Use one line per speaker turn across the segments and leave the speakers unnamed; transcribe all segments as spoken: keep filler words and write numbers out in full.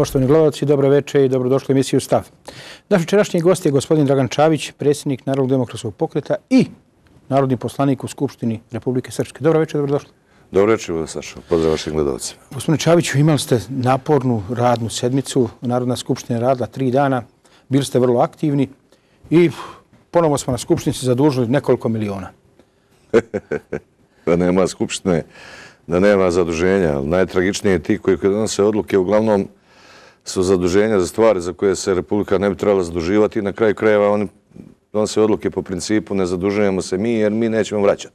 Poštovani gledalci, dobro večer i dobrodošli u emisiju Stav. Naš večerašnji gost je gospodin Dragan Čavić, predsjednik Narodnog demokratskog pokreta i narodni poslanik u Skupštini Republike Srpske. Dobro večer, dobrodošli.
Dobro večer, Saša. Pozdrav vašim gledalcima.
Gospodine Čaviću, imali ste napornu radnu sedmicu. Narodna skupština je radila tri dana. Bili ste vrlo aktivni i ponovo smo na skupštinici zadužili nekoliko miliona.
Da nema skupštine, da nema zaduženja. Najtragičnije je ti koji donose odluke uglavnom su zaduženja za stvari za koje se Republika ne bi trebala zaduživati i na kraju krajeva oni donose odluke po principu ne zadužujemo se mi jer mi nećemo vraćati.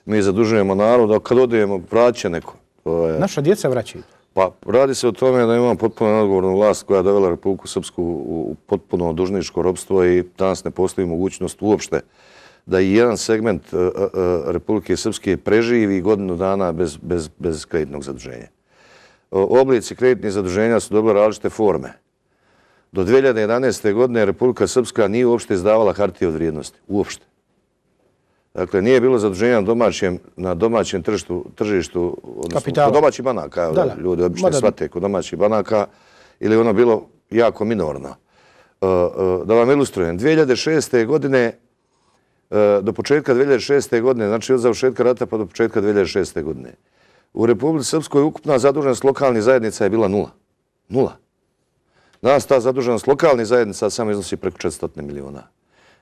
Mi zadužujemo narod, a kad odejemo vraća neko. Je...
Naša djeca vraćaju.
Pa radi se o tome da imamo potpuno neodgovornu vlast koja je dovela Republiku Srpsku u potpuno dužničko ropstvo i danas ne postoji mogućnost uopšte da i jedan segment Republike Srpske preživi godinu dana bez, bez, bez kreditnog zaduženja. Oblici kreditnih zaduženja su dobili različite forme. Do dvije hiljade jedanaeste. godine Republika Srpska nije uopšte izdavala hartije od vrijednosti. Uopšte. Dakle, nije bilo zaduženja na domaćem, na domaćem tržištu, tržištu odnosno kod domaćih banaka. Da, da. Ljudi obično shvate kod domaćih banaka ili ono bilo jako minorno. Da vam ilustrujem, dvije hiljade šeste. godine do početka dvije hiljade šeste. godine, znači od završetka rata pa do početka dvije hiljade šeste. godine, u Republici Srpskoj ukupna zaduženost lokalnih zajednica je bila nula. Nula. Danas ta zaduženost lokalnih zajednica samo iznosi preko četiristo miliona.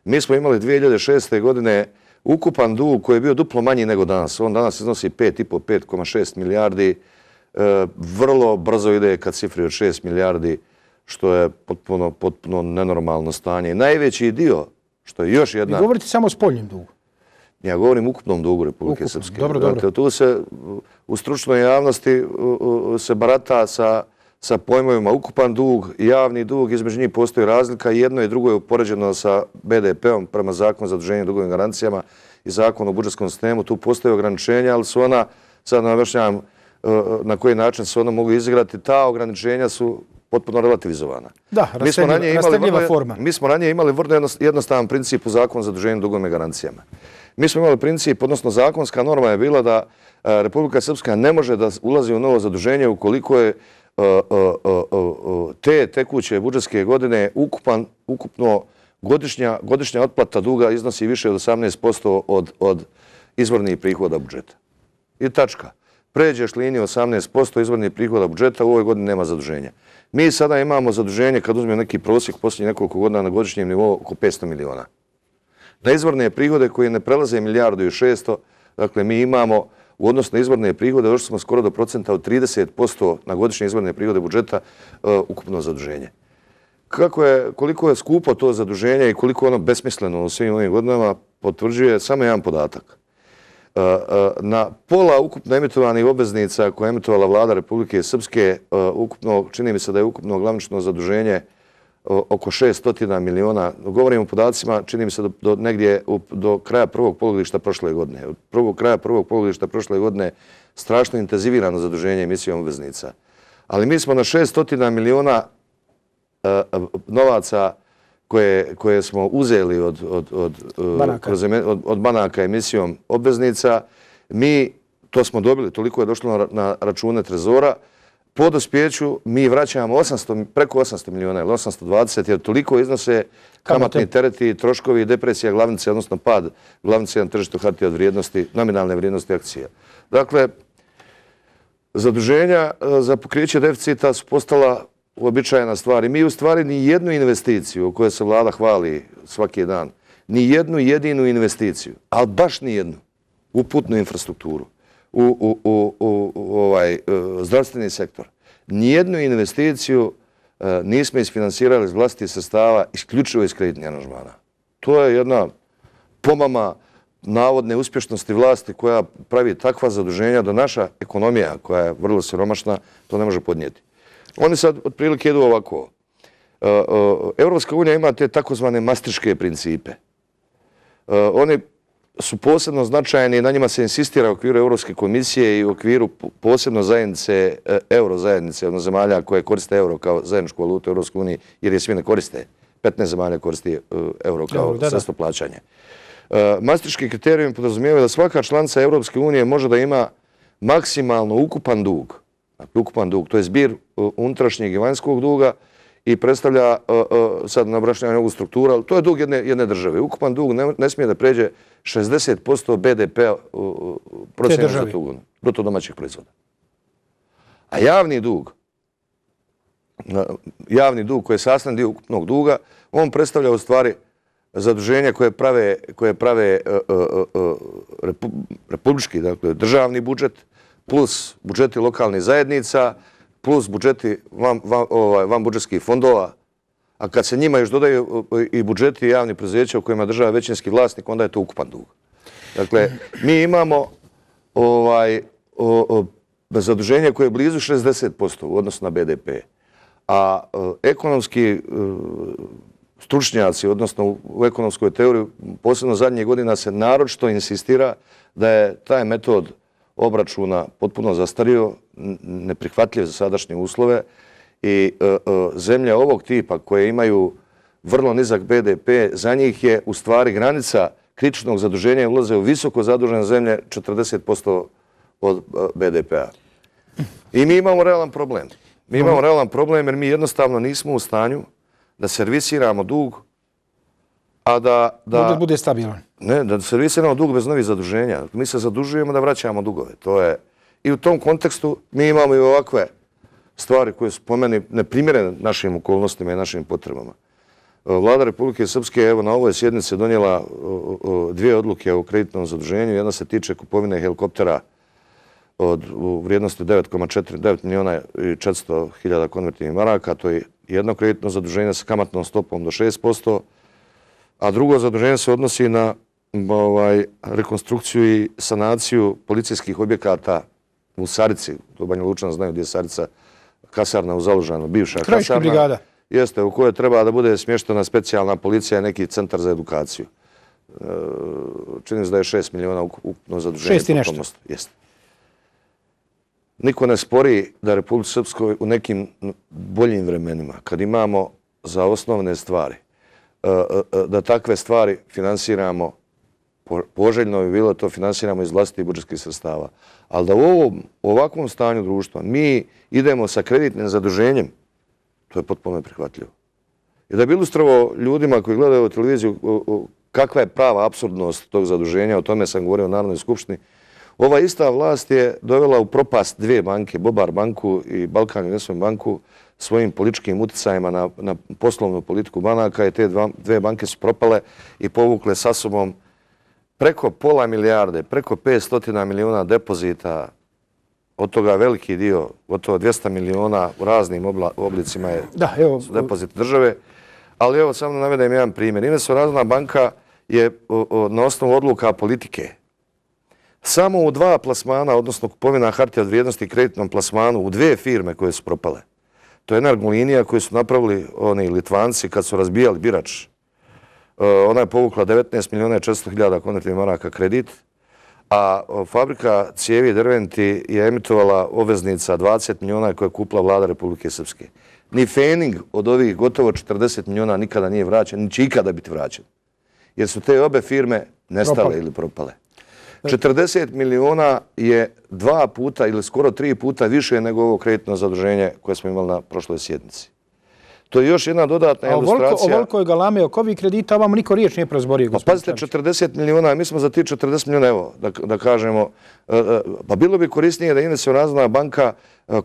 Mi smo imali dvije hiljade šeste. godine ukupan dug koji je bio duplo manji nego danas. On danas iznosi pet i po, pet zarez šest milijardi. E, vrlo brzo ide ka cifri od šest milijardi, što je potpuno, potpuno nenormalno stanje. Najveći dio, što je još jedna...
Vi govorite samo o spoljnim dugu.
Ja govorim o ukupnom dugu Republike
Ukupno.
Srpske.
Dobro, dobro.
Dakle, tu se u stručnoj javnosti se barata sa, sa pojmovima ukupan dug i javni dug. Između njih postoji razlika. Jedno i drugo je upoređeno sa be de pe-om prema zakonu za zaduženje dugovim garancijama i zakonu o budžetskom sistemu. Tu postoje ograničenja, ali su ona, sad navešćavam na koji način se ona mogu izigrati, ta ograničenja su potpuno relativizovana.
Da, rastegljiva forma.
Mi smo ranije imali vrlo jednostavan princip u zakonu za zaduženje dugovim garancijama. Mi smo imali princip, odnosno zakonska norma je bila da Republika Srpska ne može da ulazi u novo zaduženje ukoliko je te tekuće budžetske godine ukupan, ukupno godišnja, godišnja otplata duga iznosi više od osamnaest posto od, od izvornih prihoda budžeta. I tačka. Pređeš liniju osamnaest posto izvornih prihoda budžeta, u ovoj godini nema zaduženja. Mi sada imamo zaduženje, kad uzmemo neki prosjek posljednjih nekoliko godina na godišnjem nivou, oko petsto miliona. Na izvorne prihode koje ne prelaze milijardu i šesto, dakle mi imamo u odnosu na izvorne prihode, došli smo skoro do procenta od trideset posto na godišnje izvorne prihode budžeta uh, ukupno zaduženje. Kako je, koliko je skupo to zaduženje i koliko je ono besmisleno u svim ovim godinama, potvrđuje samo jedan podatak. Uh, uh, na pola ukupno emitovanih obveznica koje je emitovala vlada Republike Srpske, uh, ukupno, čini mi se da je ukupno glavnično zaduženje oko šesto miliona. Govorim o podacima, čini mi se do, do negdje u, do kraja prvog polugodišta prošle godine. Od prvog kraja prvog polugodišta prošle godine strašno intenzivirano zaduženje emisijom obveznica. Ali mi smo na šesto miliona uh, novaca koje, koje smo uzeli od, od, od,
banaka.
Kroz, od, od banaka emisijom obveznica. Mi, to smo dobili, toliko je došlo na, na račune trezora. Po dospjeću mi vraćamo osamsto, preko osamsto miliona ili osamsto dvadeset, jer toliko iznose kamatni tereti, troškovi i depresija glavnice, odnosno pad glavnice na tržištu hartija od vrijednosti, nominalne vrijednosti akcija. Dakle, zaduženja za pokriće deficita su postala uobičajena stvar. I mi u stvari ni jednu investiciju o kojoj se vlada hvali svaki dan, ni jednu jedinu investiciju, ali baš ni jednu, u putnu infrastrukturu, u, u, u, u, u ovaj, zdravstveni sektor. Nijednu investiciju uh, nismo isfinansirali iz vlastitih sredstava isključivo iz kreditnih aranžmana. To je jedna pomama navodne uspješnosti vlasti koja pravi takva zaduženja da naša ekonomija, koja je vrlo siromašna, to ne može podnijeti. Oni sad otprilike idu ovako. Uh, uh, Evropska unija ima te takozvane mastriške principe. Uh, oni su posebno značajni i na njima se insistira u okviru Europske komisije i u okviru posebno zajednice, euro zajednice, odnosno zemalja koje koriste euro kao zajedničku valutu u Europskoj uniji, jer je svi ne koriste. petnaest zemalja koristi euro kao sredstvo plaćanja. Maastrichtski kriterijumi podrazumijevaju da svaka članica Europske unije može da ima maksimalno ukupan dug, Dakle, ukupan dug. To je zbir unutrašnjeg i vanjskog duga i predstavlja, sad nabrašnjavanje ovu strukturu, ali to je dug jedne, jedne države. Ukupan dug ne, ne smije da pređe šezdeset posto B D P-a procjena za tu godinu, bruto domaćih proizvoda. A javni dug, javni dug koji je sastavni dio ukupnog duga, on predstavlja u stvari zaduženja koje prave, koje prave uh, uh, uh, repu, republički, dakle državni budžet, plus budžeti lokalnih zajednica, plus budžeti van, van, ovaj, van budžetskih fondova, a kad se njima još dodaju i budžeti javnih preduzeća u kojima država većinski vlasnik, onda je to ukupan dug. Dakle, mi imamo ovaj, o, o, zaduženje koje je blizu šezdeset posto u odnosu na B D P, a o, ekonomski o, stručnjaci, odnosno u ekonomskoj teoriji, posebno zadnjih godina se naročito insistira da je taj metod obračuna potpuno zastario, neprihvatljiv za sadašnje uslove i e, e, zemlje ovog tipa koje imaju vrlo nizak B D P, za njih je u stvari granica kritičnog zaduženja i ulaze u visoko zadužene zemlje četrdeset posto od B D P-a. I mi imamo realan problem. Mi imamo realan problem jer mi jednostavno nismo u stanju da servisiramo dug, a da... da
budžet bude stabilan.
Ne, da servisiramo dug bez novih zaduženja. Mi se zadužujemo da vraćamo dugove. To je... I u tom kontekstu mi imamo i ovakve stvari koje su po meni neprimjerene našim okolnostima i našim potrebama. Vlada Republike Srpske evo na ovoj sjednici donijela dvije odluke o kreditnom zaduženju. Jedna se tiče kupovine helikoptera od u vrijednosti devet zarez četiri milijuna i četiristo hiljada konvertivnih maraka. To je jedno kreditno zaduženje sa kamatnom stopom do šest posto, a drugo zaduženje se odnosi na ovaj, rekonstrukciju i sanaciju policijskih objekata u Sarici. To Banja Lučana znaju gdje je Sarica, kasarna u Zalužanu, bivša
Krajiška
kasarna.
brigada.
Jeste, u kojoj treba da bude smještena specijalna policija i neki centar za edukaciju. Čini se da je šest milijuna ukupno zaduženje.
Šest i nešto.
Jeste. Niko ne spori da Republici Srpskoj u nekim boljim vremenima, kad imamo za osnovne stvari, da takve stvari finansiramo, poželjno bi bilo to finansiramo iz vlastitih budžetskih sredstava. Ali da u ovom, u ovakvom stanju društva mi idemo sa kreditnim zaduženjem, to je potpuno neprihvatljivo. I da bi ilustrovao ljudima koji gledaju televiziju kakva je prava apsurdnost tog zaduženja, o tome sam govorio u Narodnoj skupštini, ova ista vlast je dovela u propast dvije banke, Bobar banku i Balkan Investment banku, svojim političkim uticajima na, na poslovnu politiku banaka i te dva, dve banke su propale i povukle sa sobom preko pola milijarde, preko petsto milijuna depozita, od toga veliki dio, gotovo dvjesto milijuna u raznim obla, oblicima je
da, evo,
depozit države. Ali evo samo navedem jedan primjer. Investno razvojna banka je o, o, na osnovu odluka politike samo u dva plasmana, odnosno kupovina hartija od vrijednosti i kreditnom plasmanu u dvije firme koje su propale. To je Energolinija koju su napravili oni Litvanci kad su razbijali birač. Ona je povukla devetnaest milijuna i četiristo hiljada konvertivnih maraka kredit, a fabrika cijevi i drventi je emitovala obveznica dvadeset milijuna koje je kupila vlada Republike Srpske. Ni fening od ovih gotovo četrdeset milijuna nikada nije vraćen, ni će ikada biti vraćen. Jer su te obe firme nestale propale. ili propale. četrdeset milijuna je dva puta ili skoro tri puta više nego ovo kreditno zaduženje koje smo imali na prošloj sjednici. To je još jedna dodatna ilustracija.
O velikoj galame oko ovih kredita ovamo niko riječ nije prozborio.
Pa pazite, četrdeset milijuna, mi smo za ti četrdeset milijuna, evo, da, da kažemo, pa bilo bi korisnije da Investno razvojna banka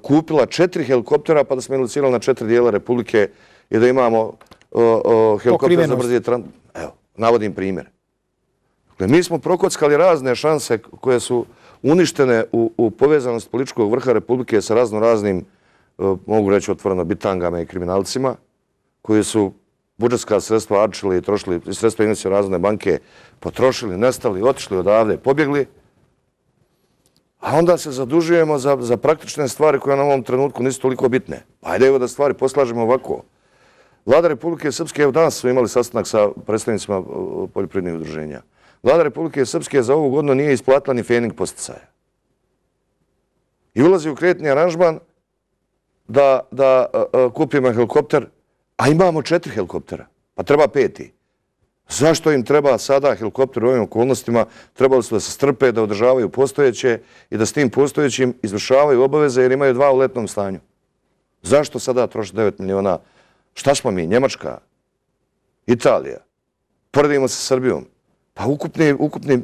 kupila četiri helikoptera pa da smo ilucirali na četiri dijela Republike i da imamo helikopter za brzi transport. Evo, navodim primjer. Dakle, mi smo prokockali razne šanse koje su uništene u, u povezanost političkog vrha Republike sa razno raznim, mogu reći otvoreno, bitangama i kriminalcima, koji su budžetska sredstva arčili i trošili, sredstva Investno razvojne banke potrošili, nestali, otišli odavde, pobjegli, a onda se zadužujemo za, za praktične stvari koje na ovom trenutku nisu toliko bitne. Ajde evo da stvari poslažemo ovako. Vlada Republike Srpske, evo danas su imali sastanak sa predstavnicima poljoprivrednih udruženja. Vlada Republike Srpske za ovu godinu nije isplatila ni fening posticaja. I ulazi u kreditni aranžman da, da uh, kupimo helikopter, a imamo četiri helikoptera, pa treba peti. Zašto im treba sada helikopter u ovim okolnostima? Trebali su da se strpe, da održavaju postojeće i da s tim postojećim izvršavaju obaveze jer imaju dva u letnom stanju. Zašto sada troši devet miliona? Šta smo mi? Njemačka? Italija? Poredimo se s Srbijom. Pa ukupni, ukupni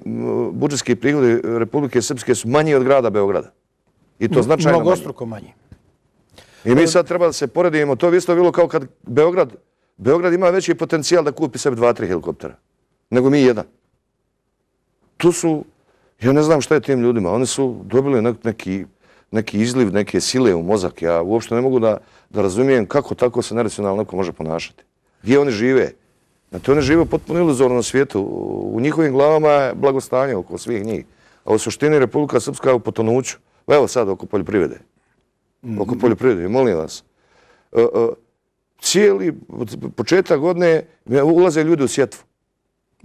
budžetski prihodi Republike Srpske su manji od grada Beograda. I to značajno manji.
Mnogostruko manji.
I mi sad treba da se poredimo. To bi isto bilo kao kad Beograd, Beograd ima veći potencijal da kupi sebi dva, tri helikoptera. Nego mi jedan. Tu su, ja ne znam šta je tim ljudima. Oni su dobili neki, neki izliv, neke sile u mozak. Ja uopšte ne mogu da, da razumijem kako tako se neracionalno neko može ponašati. Gdje oni žive? Znači, oni žive potpuno iluzornom svijetu. U njihovim glavama je blagostanje oko svih njih. A u suštini Republika Srpska je u potonuću. Evo sad oko poljoprivrede. Oko poljoprivrede, molim vas. Cijeli početak godine ulaze ljudi u sjetvu.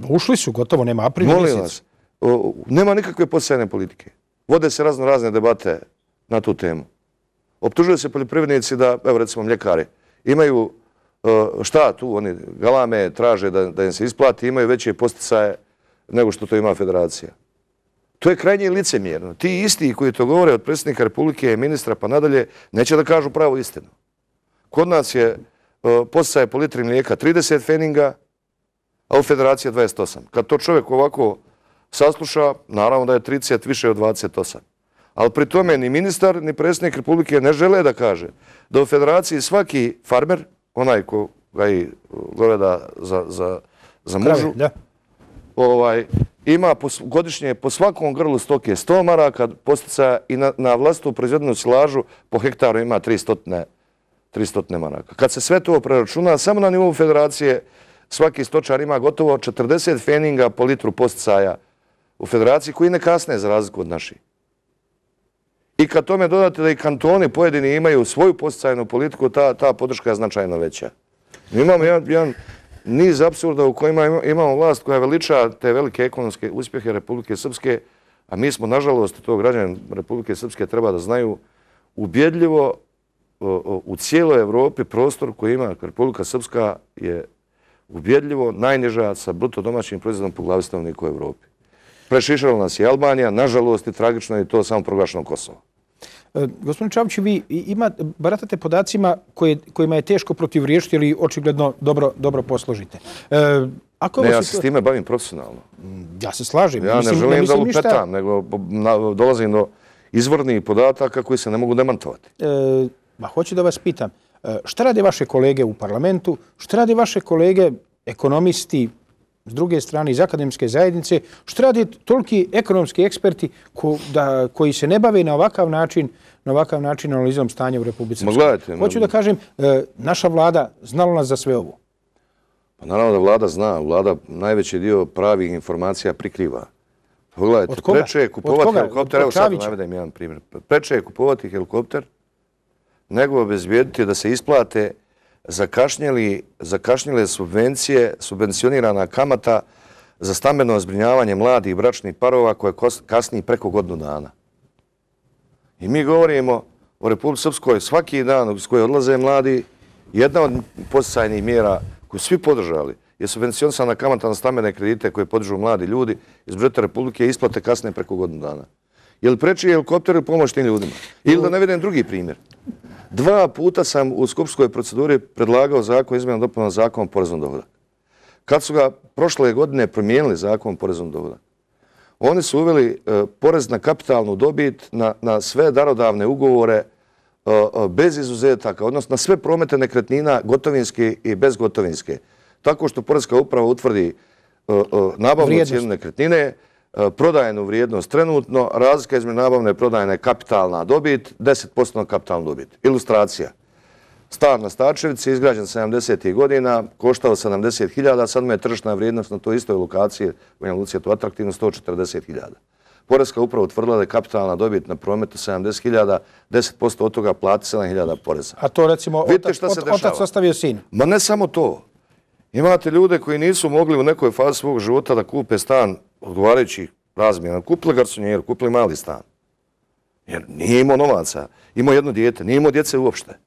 Ušli su, gotovo, nema april mjesec.
Molim vas. Nema nikakve podsjajne politike. Vode se razno razne debate na tu temu. Optužuju se poljoprivrednici da, evo recimo mljekari, imaju šta tu, oni galame, traže da, da im se isplati, imaju veće posticaje nego što to ima federacija. To je krajnje licemjerno. Ti isti koji to govore od predsjednika Republike, ministra pa nadalje, neće da kažu pravu istinu. Kod nas je posticaje po litri mlijeka trideset feninga, a u federaciji dvadeset osam. Kad to čovjek ovako sasluša, naravno da je trideset više od dvadeset osam. Ali pri tome ni ministar, ni predsjednik Republike ne žele da kaže da u federaciji svaki farmer, onaj ko ga i goveda za, za, za mužu, ovaj, ima po, godišnje po svakom grlu stoke sto maraka posticaja i na, na vlastitu proizvedenu silažu po hektaru ima tristo maraka. Kad se sve to preračuna, samo na nivou federacije svaki stočar ima gotovo četrdeset feninga po litru posticaja u federaciji koji ne kasne za razliku od naših. I kad tome dodate da i kantoni pojedini imaju svoju posticajnu politiku, ta, ta podrška je značajno veća. Mi imamo jedan, jedan niz apsurda u kojima imamo vlast koja veliča te velike ekonomske uspjehe Republike Srpske, a mi smo, nažalost, to građani Republike Srpske treba da znaju, ubjedljivo u cijeloj Evropi prostor koji ima Republika Srpska je ubjedljivo najniža sa bruto domaćim proizvodom po glavi stanovnika u Evropi. Prešišala nas je Albanija, nažalost i tragično je to samo proglašeno Kosovo.
E, gospodin Čavić, vi ima, baratate podacima koje, kojima je teško protivriješiti ili očigledno dobro, dobro posložite. E, ako
ne, ja
to...
se s time bavim profesionalno.
Ja se slažem.
Ja
mislim,
ne želim
ne
da
ništa...
lupetam, nego na, dolazim do izvornih podataka koji se ne mogu demantovati.
E, ma, hoću da vas pitam, šta rade vaše kolege u parlamentu, šta rade vaše kolege ekonomisti, s druge strane iz akademske zajednice, što rade toliki ekonomski eksperti ko, da, koji se ne bave na ovakav način, na ovakav način analizom stanja u Republici Srpskoj. Hoću da kažem, e, naša vlada znala nas za sve ovo.
Pa naravno da vlada zna. Vlada najveći dio pravih informacija prikriva. Pogledajte, preče je kupovati helikopter, evo sad navedem jedan primjer, preče je kupovati helikopter nego obezbijediti da se isplate zakašnjeli, zakašnjele subvencije, subvencionirana kamata za stambeno zbrinjavanje mladih i bračnih parova koje kasni preko godinu dana. I mi govorimo o Republici Srpskoj svaki dan s koje odlaze mladi. Jedna od posticajnih mjera koju svi podržali je subvencionisana kamata na stambene kredite koje podižu mladi ljudi iz budžeta Republike isplate kasne preko godinu dana. Je li preči helikopter ili pomoć tim ljudima? Ili da ne vidim drugi primjer. Dva puta sam u skupštinskoj proceduri predlagao zakon izmjena dopuna zakona o porezu na dohodak. Kad su ga prošle godine promijenili zakon o porezu na dohodak, oni su uveli uh, porez na kapitalnu dobit na, na sve darodavne ugovore uh, uh, bez izuzetaka, odnosno na sve promete nekretnina gotovinske i bezgotovinske. Tako što porezka uprava utvrdi uh, uh, nabavnu cijenu nekretnine, prodajenu vrijednost trenutno, razlika između nabavne prodajne kapitalna dobit, deset posto kapitalna dobit. Ilustracija. Stan na Stačevici, izgrađen sedamdesetih godina, koštao sedamdeset hiljada, sad mu je tržišna vrijednost na toj istoj lokaciji, u Banja Luci je to atraktivno, sto četrdeset hiljada. Porezka uprava utvrdila da je kapitalna dobit na prometu sedamdeset hiljada, deset posto od toga plati sedam hiljada poreza.
A to recimo otac, otac ostavio sin?
Ma ne samo to. Imate ljude koji nisu mogli u nekoj fazi svog života da kupe stan odgovarajući razmjena. Kupili garsonjeru, kupili mali stan. Jer nije imao novaca. Imao jedno dijete, nije imao djece uopšte.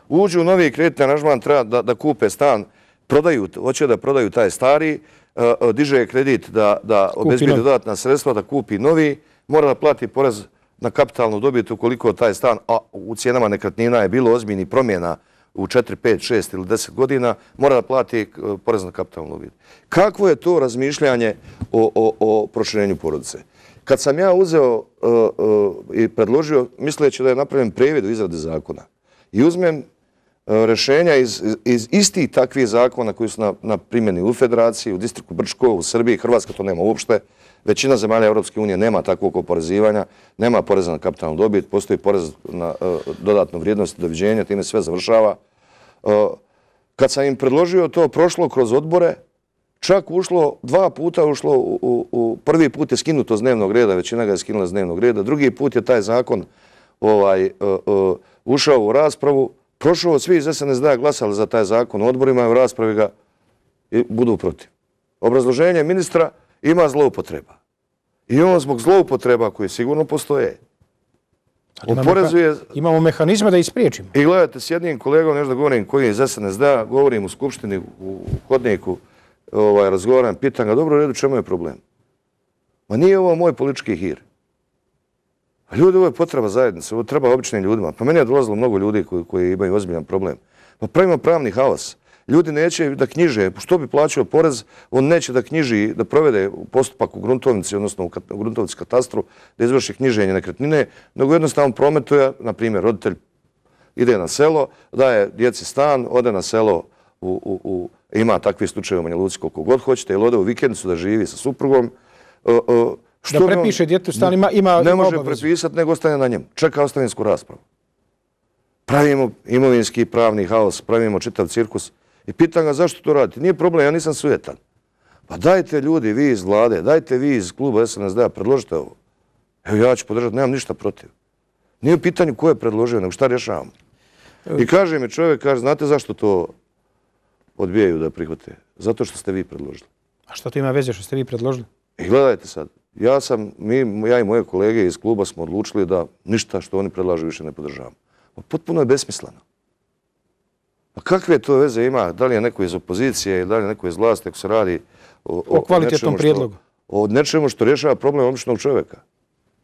Uđu u novi kreditni aranžman, treba da, da kupe stan, prodaju, hoće da prodaju taj stari, diže kredit da obezbijedi dodatna sredstva, da kupi novi, mora da plati porez na kapitalnu dobit ukoliko taj stan, a u cijenama nekretnina je bilo ozbiljnih promjena u četiri, pet, šest ili deset godina, mora da plati porez na kapitalnu dobit. Kakvo je to razmišljanje o proširenju porodice? Kad sam ja uzeo i predložio, misleći da je napravljen previd u izradi zakona, i uzmem rešenja iz istih takvih zakona koji su na primjeni u Federaciji, u distriktu Brčko, u Srbiji, Hrvatska to nema uopšte, većina zemalja Europske unije nema takvog oporezivanja, nema poreza na kapitalnu dobit, postoji porez na dodatnu vrijednost i doviđenja, time sve završava. Kad sam im predložio to, prošlo kroz odbore, čak ušlo, dva puta ušlo, u prvi put je skinuto s dnevnog reda, većina ga je skinula s dnevnog reda, drugi put je taj zakon ušao u raspravu, prošao, svi iz S N S D-a glasali za taj zakon u odborima, u raspravi ga budu protiv. Obrazloženje ministra: ima zloupotreba. I on zbog zloupotreba koje sigurno postoje, oporezuje...
Imamo mehanizme da ispriječimo.
I gledajte, s jednim kolegom, nešto da govorim koji je iz S N S D-a, govorim u skupštini, u hodniku, razgovaram, pitan ga: dobro, u redu, čemu je problem? Ma nije ovo moj politički hir. Ljudi, ovo je potreba zajednice, ovo treba običnim ljudima. Pa meni je dolazilo mnogo ljudi koji imaju ozbiljan problem. Pa pravimo pravni haos. Ljudi neće da knjiže, što bi plaćao porez, on neće da knjiži, da provede postupak u gruntovnici, odnosno u gruntovnici katastru, da izvrši knjiženje nekretnine, nego jednostavno prometuje, na primjer, roditelj ide na selo, daje djeci stan, ode na selo, ima takvi slučaje u Banja Luci koliko god hoćete, ili ode u vikendicu da živi sa suprugom.
Da prepiše djetu stan, ima obavezu.
Ne može prepisati, nego ostane na njemu. Čeka ostavinsku raspravu. Pravimo imovinski i pravni haos, pravimo čitav cirkus. I pitan ga zašto to radite. Nije problem, ja nisam sujetan. Pa dajte ljudi, vi iz vlade, dajte vi iz kluba S N S D-a, predložite ovo. Evo ja ću podržati, nemam ništa protiv. Nije u pitanju ko je predložio, nego šta rješavamo. I kaže mi čovjek, kaže, znate zašto to odbijaju da prihvate? Zato što ste vi predložili.
A što to ima veze što ste vi predložili?
I gledajte sad, ja sam, mi, ja i moje kolege iz kluba smo odlučili da ništa što oni predlažu više ne podržavamo. Potpuno je besmisleno. A kakve to veze ima, da li je neko iz opozicije ili da li je neko iz vlasti, ako se radi o,
o, o kvalitetnom prijedlogu?
O nečemu što rješava problem običnog čovjeka.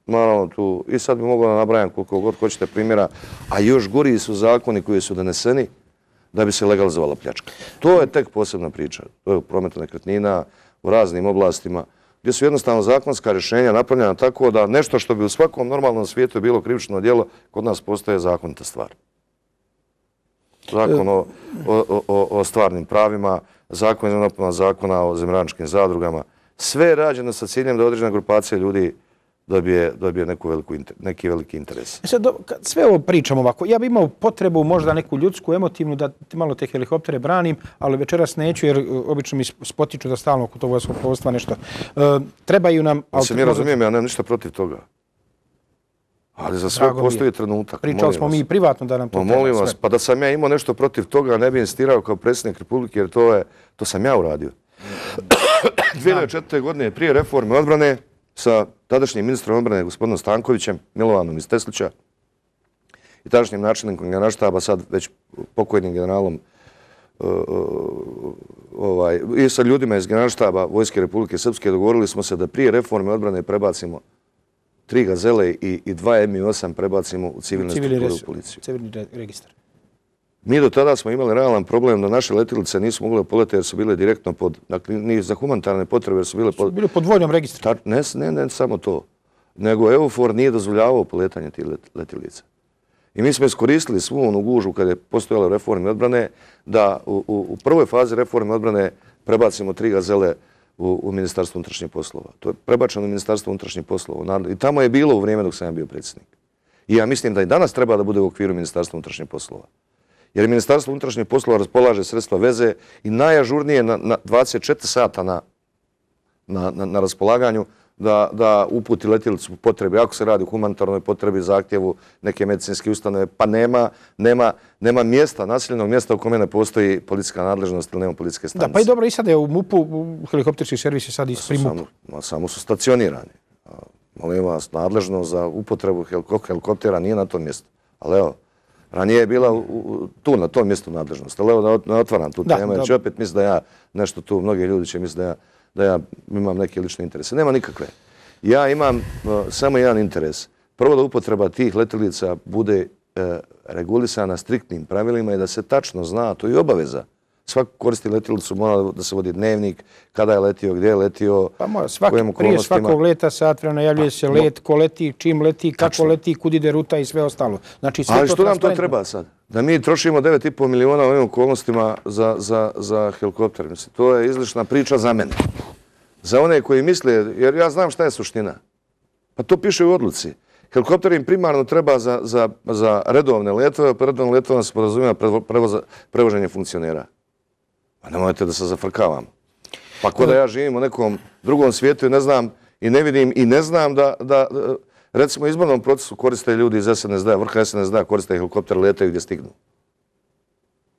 Naravno, tu, i sad bi mogao da nabrajam koliko god hoćete primjera, a još gori su zakoni koji su doneseni da bi se legalizovala pljačka. To je tek posebna priča. To je u prometu nekretnina, u raznim oblastima, gdje su jednostavno zakonska rješenja napravljena tako da nešto što bi u svakom normalnom svijetu bilo krivično djelo, kod nas postaje zakonita stvar. Zakon o, o, o, o stvarnim pravima, zakon je napuna zakona o zemljišnim zadrugama. Sve je rađeno sa ciljem da određena grupacija ljudi dobije, dobije neku veliku, neki veliki interes.
Sad, kad sve ovo pričamo ovako, ja bih imao potrebu možda neku ljudsku, emotivnu, da malo te helikoptere branim, ali večeras neću jer obično mi spotiču da stalno oko tog vojskovostva nešto. E, trebaju nam...
Ja se mi razumijem, ja nemam ništa protiv toga. Ali za sve postoji trenutak.
Pričali smo mi privatno da nam to treba.
Molim vas, pa da sam ja imao nešto protiv toga, ne bi insistirao kao predsjednik Republike, jer to je, to sam ja uradio. dvije hiljade četvrte. godine prije reforme odbrane sa tadašnjim ministrom odbrane gospodinom Stankovićem, Milovanom iz Teslića, i tadašnjim načelnikom generalštaba, sad već pokojnim generalom i sa ljudima iz generalštaba Vojske Republike Srpske dogovorili smo se da prije reforme odbrane prebacimo tri Gazele i dva M I osam prebacimo u civilnu strukturu u policiju.
Civilni registar.
Mi do tada smo imali realan problem da naše letilice nisu mogle poletiti jer su bile direktno pod, dakle, ni za humanitarne potrebe jer su bile pod...
Su bile pod vojnom registru.
Ne, ne, ne samo to, nego EUFOR nije dozvoljavao poletanje tih letilica. I mi smo iskoristili svu onu gužu kada je postojala reforma odbrane da u, u, u prvoj fazi reforme odbrane prebacimo tri Gazele u, u Ministarstvo unutrašnjih poslova. To je prebačeno u Ministarstvo unutrašnjih poslova. I tamo je bilo u vrijeme dok sam ja bio predsjednik. I ja mislim da i danas treba da bude u okviru Ministarstva unutrašnjih poslova. Jer Ministarstvo unutrašnjih poslova raspolaže sredstva veze i najažurnije na, na dvadeset četiri sata na, na, na, na raspolaganju da, da uputi letjelicu potrebe. Ako se radi o humanitarnoj potrebi, zahtjevu neke medicinske ustanove, pa nema, nema, nema mjesta, naseljenog mjesta u kome ne postoji policijska nadležnost ili nema policijske stanice.
Da, pa i dobro, i sad je u MUP-u, helikopterski servis je sad i pri MUP-u.
Samo, samo su stacionirani. Molim vas, nadležnost za upotrebu helikoptera nije na tom mjestu. Ali evo, ranije je bila u, u, tu na tom mjestu nadležnost. Ali evo, ne otvaram tu temu, jer će opet misli da ja nešto tu, mnogi ljudi će misli da ja da ja imam neke lične interese. Nema nikakve. Ja imam uh, samo jedan interes. Prvo da upotreba tih letjelica bude uh, regulisana striktnim pravilima i da se tačno zna, to je obaveza. Svako koristi letjelicu, mora da se vodi dnevnik, kada je letio, gdje je letio,
pa mora, svaki, prije svakog leta sat vremena najavljuje se let, ko leti, čim leti, kako tačno leti, kud ide ruta i sve ostalo. Znači, sve
ali
to
što nam to treba sad? Da mi trošimo devet i pol miliona u ovim okolnostima za, za, za helikopter. Mislim, to je izlišna priča za mene. Za one koji misle, jer ja znam šta je suština. Pa to piše u odluci. Helikopter im primarno treba za, za, za redovne letove, pa redovne letove se podrazumijeva prevoženje funkcionera. Pa nemojte da se zafrkavam. Pa ko da ja živim u nekom drugom svijetu i ne znam i ne vidim i ne znam da, da recimo u izbornom procesu koriste ljudi iz S N S D-a, vrha S N S D-a koriste helikopter, letaju gdje stignu.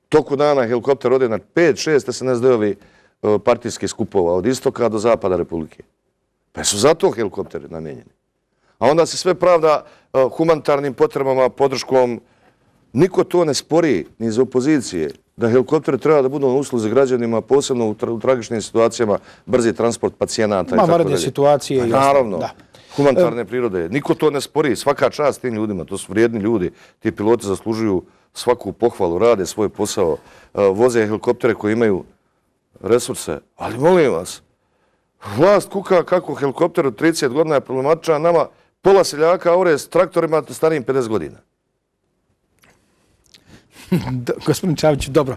Toku dana helikopter ode na pet šest S N S D-ovi partijskih skupova od istoka do zapada Republike. Pa su zato helikopteri namijenjeni. A onda se sve pravda humanitarnim potrebama, podrškom. Niko to ne spori ni iz opozicije da helikopteri treba da budu na usluzi građanima, posebno u, tra u tragičnim situacijama, brzi transport pacijenata i tako dalje.
Ma, vanredne situacije.
Naravno, da. Humanitarne prirode. Niko to ne spori. Svaka čast tim ljudima. To su vrijedni ljudi. Ti piloti zaslužuju svaku pohvalu, rade svoj posao, voze helikoptere koji imaju resurse. Ali molim vas, vlast kuka kako helikopter od trideset godina je problematičan, nama pola seljaka ore s traktorima starijim pedeset godina.
Gospodin Čavić, dobro,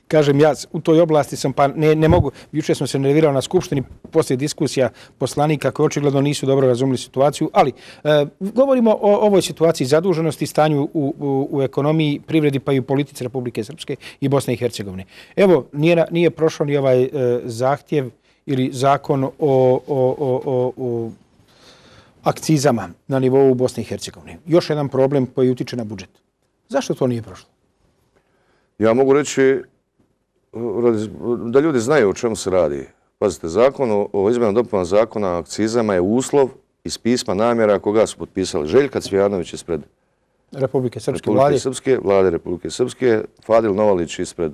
kažem ja u toj oblasti sam, pa ne, ne mogu, jučer smo se nervirali na Skupštini poslije diskusija poslanika koji očigledno nisu dobro razumili situaciju, ali e, govorimo o ovoj situaciji zaduženosti, stanju u, u, u ekonomiji, privredi pa i u politici Republike Srpske i Bosne i Hercegovine. Evo, nije, nije prošao ni ovaj e, zahtjev ili zakon o, o, o, o, o akcizama na nivou Bosne i Hercegovine. Još jedan problem koji utiče na budžet. Zašto to nije prošlo?
Ja mogu reći da ljudi znaju o čemu se radi. Pazite, zakon o izmjenama dopuna zakona o akcizama je uslov iz pisma namjera koga su potpisali Željka Cvijanović ispred
Republike Srpske
Republike
vlade,
Srpske, vlade Republike Srpske, Fadil Novalić ispred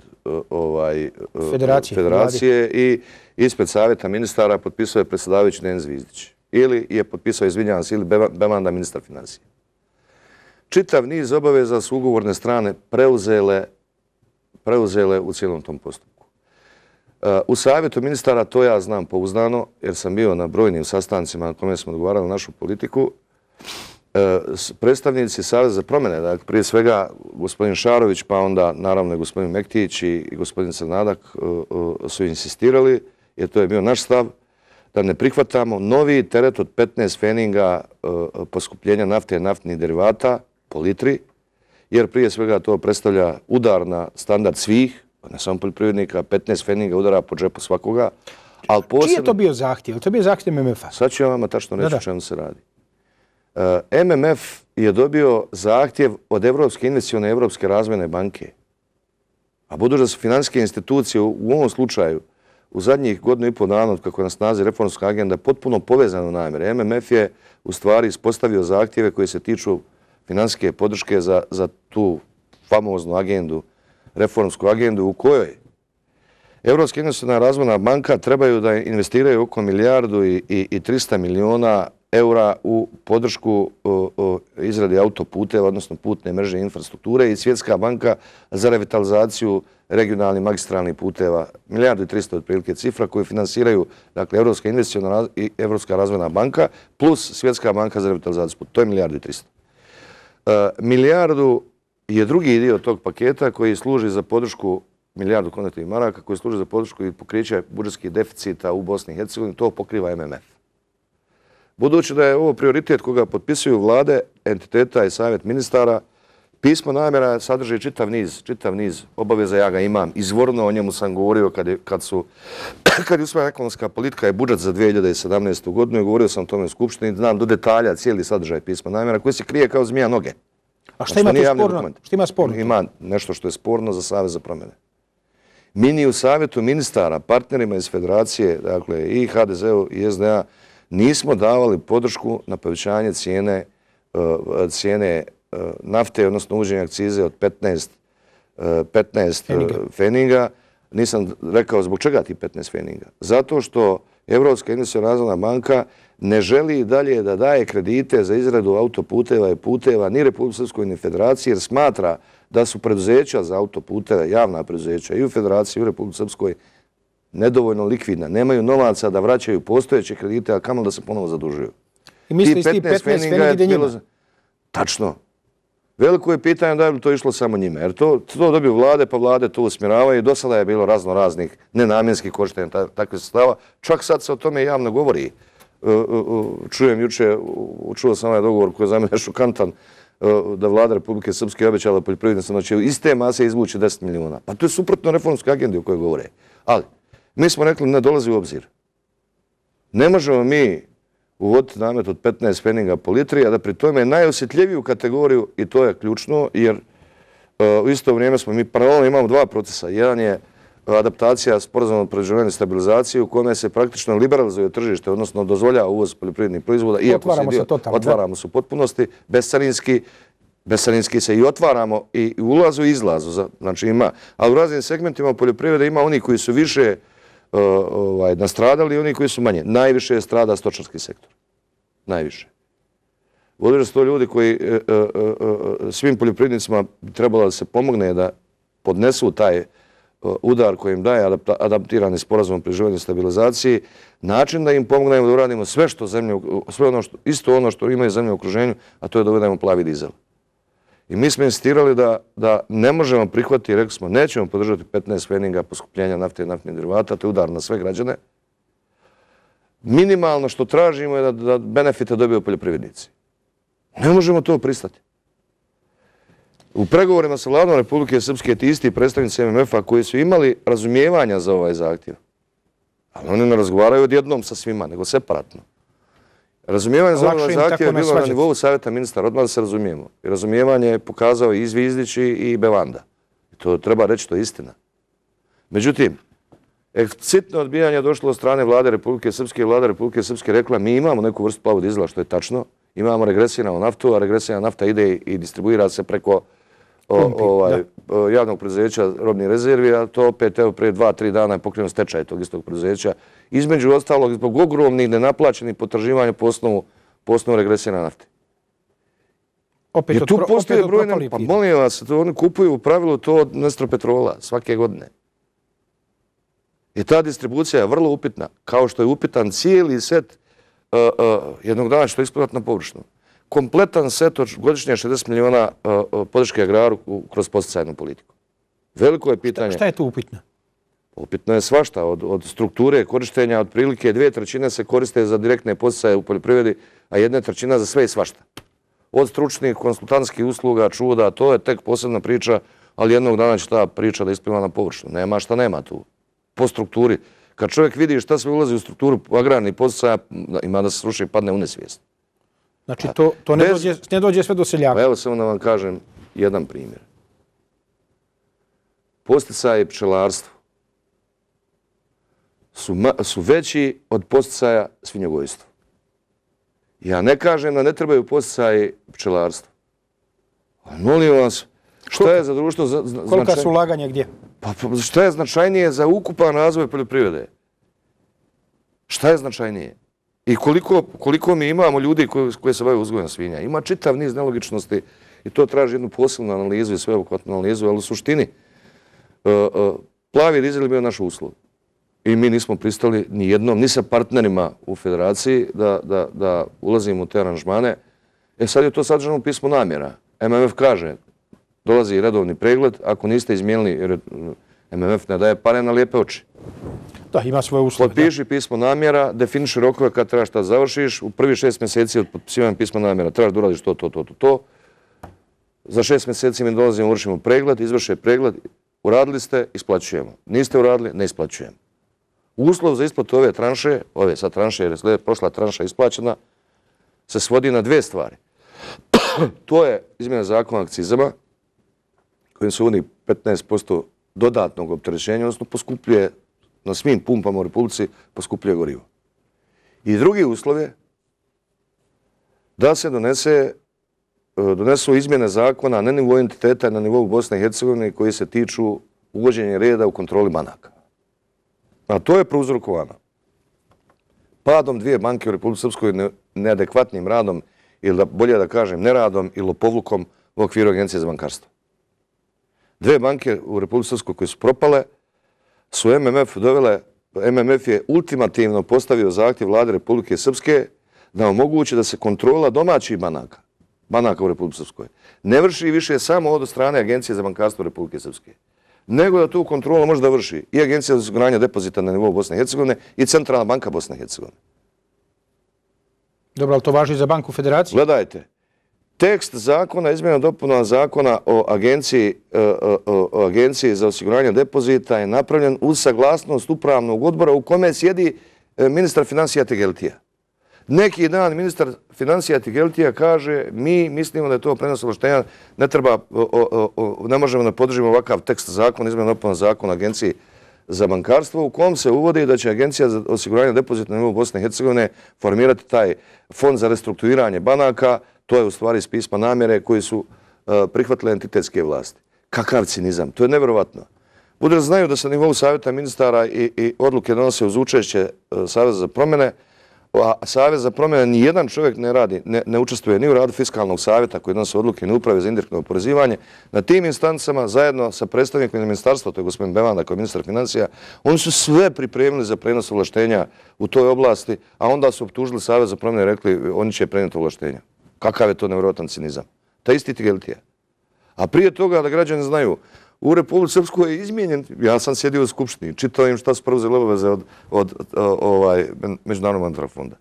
ovaj,
Federacije,
Federacije i ispred Savjeta ministara potpisao je predsjedavajući Dejan Zvizdić. Ili je potpisao, izvinjavam se, ili Bemanda, ministar financija. Čitav niz obaveza su ugovorne strane preuzele preuzele u cijelom tom postupku. U savjetu ministara, to ja znam pouzdano, jer sam bio na brojnim sastancima na kome smo dogovarali našu politiku, predstavnici Saveza za promjene, dakle, prije svega gospodin Šarović, pa onda naravno i gospodin Mektić i gospodin Crnadak su insistirali, jer to je bio naš stav, da ne prihvatamo novi teret od petnaest feninga poskupljenja nafte i naftnih derivata po litri, jer prije svega to predstavlja udar na standard svih, ne samo poljoprivrednika, petnaest feninga udara po džepu svakoga.
Čiji je to bio zahtjev? To je bio zahtjev M M F-a?
Sad ću vam tačno reći o čemu se radi. M M F je dobio zahtjev od Evropske investicione i Evropske razvojne banke. A budući da su financijske institucije u ovom slučaju u zadnjih godinu i pol dana od kako je na snazi reformska agenda potpuno povezana u namjere. M M F je u stvari ispostavio zahtjeve koje se tiču financijske podrške za, za tu famoznu agendu, reformsku agendu u kojoj Evropska investiciona razvojna banka trebaju da investiraju oko milijardu i, i, i trista miliona eura u podršku o, o, izradi autoputeva, odnosno putne mreže infrastrukture i Svjetska banka za revitalizaciju regionalnih magistralnih puteva. Milijardu i trista otprilike cifra koju finansiraju dakle, Evropska investiciona i Evropska razvojna banka plus Svjetska banka za revitalizaciju puteva. To je milijardu i trista. Uh, milijardu je drugi dio tog paketa koji služi za podršku milijardu konvertivnih maraka, koji služi za podršku i pokriće budžetskih deficita u Bosni i Hercegovini. To pokriva M M F. Budući da je ovo prioritet koga potpisuju vlade, entiteta i savjet ministara, pismo namjera sadrži čitav niz, čitav niz obaveza, ja ga imam izvorno, o njemu sam govorio kad je, kad su, kad je usvojena ekonomska politika i budžet za dvije hiljade sedamnaestu. godinu i govorio sam o tome u Skupštini, znam do detalja cijeli sadržaj pisma namjera koji se krije kao zmija noge.
A šta ima tu sporno? Šta ima sporno?
Ima nešto što je sporno za Savez za promjene. Mi ni u savjetu ministara, partnerima iz Federacije, dakle i H D Z-u i S D A, nismo davali podršku na povećanje cijene, cijene nafte, odnosno uvođenja akcize od petnaest feninga nisam rekao zbog čega ti petnaest pfenninga. Zato što Evropska investiciona razvojna banka ne želi dalje da daje kredite za izradu autoputeva i puteva ni Republike Srpskoj ni Federaciji, jer smatra da su preduzeća za autoputeve, javna preduzeća i u Federaciji i u Republike Srpskoj nedovoljno likvidna. Nemaju novaca da vraćaju postojeće kredite, a kamoli da se ponovo zadužuju.
I misli ti petnaest pfenninga ide njima?
Tačno. Veliko je pitanje da je to išlo samo njime, jer to, to dobiju vlade, pa vlade to usmjeravaju i do sada je bilo razno raznih nenamjenskih korištenja takvih sredstava. Čak sad se o tome javno govori. Čujem juče, čuo sam ovaj dogovor koji je za mene šokantan, da vlada Republike Srpske obećala poljoprivrednicima da će iz te mase izvući deset miliona. Pa to je suprotno reformskoj agendi o kojoj govore. Ali, mi smo rekli ne dolazi u obzir. Ne možemo mi uvoditi namet od petnaest pfenninga po litri, a da pri tome najosjetljiviju kategoriju, i to je ključno, jer u isto vrijeme smo mi paralelno imamo dva procesa. Jedan je adaptacija sporazuma o pridruživanju i stabilizaciji u kome se praktično liberalizuje tržište, odnosno dozvoljava uvoz poljoprivrednih proizvoda.
Otvaramo se totalno.
Otvaramo se u potpunosti, bescarinski, bescarinski se i otvaramo i ulazu i izlazu. Znači ima, ali u raznim segmentima poljoprivrede ima oni koji su više nastradali i oni koji su manje. Najviše je strada stočarski sektor. Najviše. Vodeće su to ljudi koji svim poljoprivrednicima trebalo da se pomogne da podnesu taj udar koji im daje adaptirani sporazum o pridruživanju i stabilizaciji, način da im pomognemo da uradimo sve što zemlje, sve ono što, isto ono što imaju zemlje u okruženju, a to je da uvedemo plavi dizel. I mi smo insistirali da, da ne možemo prihvatiti, rekli smo, nećemo podržati petnaest pfenninga poskupljenja nafte i naftnih derivata, to je udar na sve građane. Minimalno što tražimo je da, da benefite dobiju poljoprivrednici. Ne možemo to pristati. U pregovorima sa vladom Republike Srpske ti isti predstavnici M M F-a koji su imali razumijevanja za ovaj zahtjev, ali oni ne razgovaraju odjednom sa svima, nego separatno. Razumijevanje za ovaj zahtjev je bilo na nivou savjeta ministara, odmah da se razumijemo. I razumijevanje je pokazao i Zvizdić i Bevanda. I to treba reći, to je istina. Međutim, eksplicitno odbijanje je došlo od strane vlade Republike Srpske i vlada Republike Srpske rekla mi imamo neku vrstu plavog dizela, što je tačno, imamo regresiju na naftu, a regresija nafta ide i distribuira se preko javnog preduzeća robnih rezervi, a to opet evo prije dva, tri dana je pokrenuo stečaj tog istog preduzeća. Između ostalog, zbog ogromnih nenaplaćenih potraživanja po osnovu, po osnovu regresije na nafti.
Opet
I tu postoje brojne, pa molim vas, to oni kupuju u pravilu to od Nestropetrola svake godine. I ta distribucija je vrlo upitna, kao što je upitan cijeli set uh, uh, jednog dana što je isplivati na površinu. Kompletan set od godišnje šezdeset miliona uh, podrške agraru kroz posticajnu politiku. Veliko je pitanje...
Šta, šta je tu upitno?
Upitno je svašta. Od, od strukture korištenja, otprilike dvije trećine se koriste za direktne poticaje u poljoprivredi, a jedna trećina za sve i svašta. Od stručnih, konsultantskih usluga, čuda, to je tek posebna priča, ali jednog dana će ta priča da ispliva na površinu. Nema šta nema tu. Po strukturi. Kad čovjek vidi šta sve ulazi u strukturu agrarnih poticaja, ima da se sruši i padne u nesvijest.
Znači, to, to ne, Bez... dođe, ne dođe sve do seljaka.
Evo samo da vam kažem jedan primjer. Posticaje pčelarstva su, su veći od posticaja svinjogojstva. Ja ne kažem da ne trebaju posticaje pčelarstva. Ali molim vas, šta je za društvo značajnije?
Kolika su ulaganja gdje?
Pa šta je značajnije za ukupan razvoj poljoprivrede? Šta je značajnije? I koliko, koliko mi imamo ljudi koji, koji se bave uzgojem svinja? Ima čitav niz nelogičnosti i to traži jednu posebnu analizu i sveobuhvatnu analizu, ali u suštini uh, uh, plavi dizel je bio naš uslov. I mi nismo pristali ni jednom, ni sa partnerima u federaciji da, da, da ulazimo u te aranžmane. E sad je to sadržano u pismu namjera. M M F kaže, dolazi redovni pregled, ako niste izmijenili, jer M M F ne daje pare na lijepe oči.
Da, ima svoje uslove.
Potpiši pismo namjera, definiši rokove kad trebaš šta završiš, u prvi šest mjeseci od potpisivanja pisma namjera trebaš da uradiš to, to, to, to, to. Za šest mjeseci mi dolazimo, vršimo pregled, izvrše pregled, uradili ste, isplaćujemo. Niste uradili, ne isplaćujemo. Uslov za isplatu ove tranše, ove sad tranše, jer je prošla tranša isplaćena, se svodi na dvije stvari. To je izmjena zakona o akcizama, kojim se uvodi petnaest posto dodatnog opterećenja, odnosno poskupljuje na svim pumpama u Republici, poskupljuje gorivo. I drugi uslov je da se donese, donesu izmjene zakona na nivou entiteta, na nivou Bosne i Hercegovine koji se tiču uvođenje reda u kontroli banaka. A to je prouzrokovano padom dvije banke u Republici Srpskoj, neadekvatnim radom, ili da, bolje da kažem neradom i lopovlukom u okviru Agencije za bankarstvo. Dve banke u Republici Srpskoj koje su propale su M M F dovele, M M F je ultimativno postavio zahtjev vlade Republike Srpske da omogući da se kontrola domaćih banaka, banaka u Republici Srpskoj, ne vrši više samo od strane Agencije za bankarstvo Republike Srpske, nego da tu kontrolu može da vrši i Agencija za osiguranje depozita na nivou Bosne i Hercegovine i Centralna banka Bosne i Hercegovine.
Dobro, ali to važi za Banku Federacije?
Gledajte, tekst zakona, izmjena dopuna zakona o agenciji, o, o agenciji za osiguranje depozita je napravljen uz saglasnost upravnog odbora u kome sjedi ministar financija Tegeltija. Neki dan ministar financija Tegeltija kaže mi mislimo da je to prenos ovlaštenja, ne treba, o, o, o, ne možemo da podržimo ovakav tekst zakona, izmjena dopuna zakona o agenciji za bankarstvo u kom se uvodi da će Agencija za osiguranje depozita na nivou Bosne i Hercegovine formirati taj fond za restrukturiranje banaka. To je u stvari iz pisma namjere koji su uh, prihvatile entitetske vlasti. Kakav cinizam? To je nevjerovatno. Bude da znaju da se na nivou savjeta ministara i, i odluke donose uz učešće uh, Saveza za promjene, a Savez za promjene nijedan čovjek ne radi, ne, ne učestvuje ni u radu fiskalnog savjeta koji donose odluke ni uprave za indirektno oporezivanje. Na tim instancama zajedno sa predstavnikom ministarstva, to je gospodin Bevanda kao ministar financija, oni su sve pripremili za prenos ovlaštenja u toj oblasti, a onda su optužili Savez za promjene i rekli oni će prenijeti ovlaštenja. Kakav je to nevjerojatan cinizam? Ta isti Tegeltija. A prije toga, da građani znaju, u Republici Srpskoj je izmijenjen, ja sam sjedio u Skupštini, čitao im šta su preuzeli obaveze od, od, od ovaj, Međunarodnog monetarnog fonda.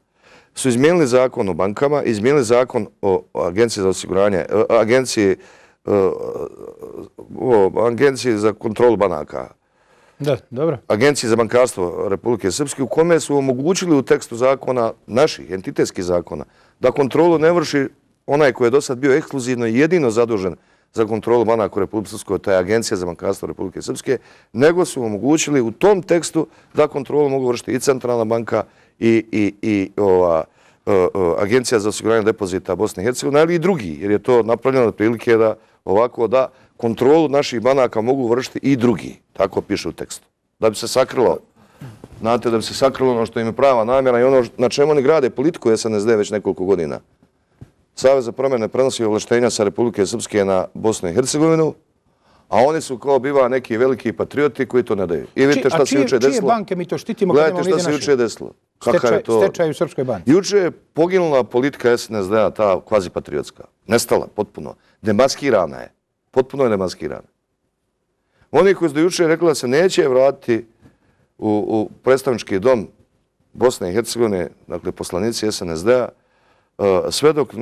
Su izmijenili zakon o bankama, izmijenili zakon o agenciji za osiguranje, agenciji, o agenciji za kontrolu banaka.
Da, dobro.
Agenciji za bankarstvo Republike Srpske u kome su omogućili u tekstu zakona, naših entitetskih zakona, da kontrolu ne vrši onaj koji je do sad bio ekskluzivno i jedino zadužen za kontrolu banaka u Republike Srpskoj, to je Agencija za bankarstvo Republike Srpske, nego su omogućili u tom tekstu da kontrolu mogu vršiti i Centralna banka i, i, i ova, o, o, Agencija za osiguranje depozita Bosne i Hercegovine, ali i drugi, jer je to napravljeno od prilike da ovako da kontrolu naših banaka mogu vršiti i drugi, tako piše u tekstu. Da bi se sakrilo, znate, da bi se sakrilo ono što im je prava namjera i ono na čemu oni grade politiku S N S D već nekoliko godina. Savez za promjene prenosi ovlaštenja sa Republike Srpske na Bosnu i Hercegovinu, a oni su kao biva neki veliki patrioti koji to ne daju. I vidite šta se juče desilo.
A čije banke mi to štitimo?
Gledajte šta se juče desilo.
Stečaj u Srpskoj banci.
Juče je poginula politika S N S D-a, ta kvazi patriotska. Nestala potpuno. Demaskirana je. Potpuno je demaskirana. Oni koji su do juče rekli da se neće vratiti u, u predstavnički dom Bosne i Hercegovine, dakle poslanici S N S D-a, sve dok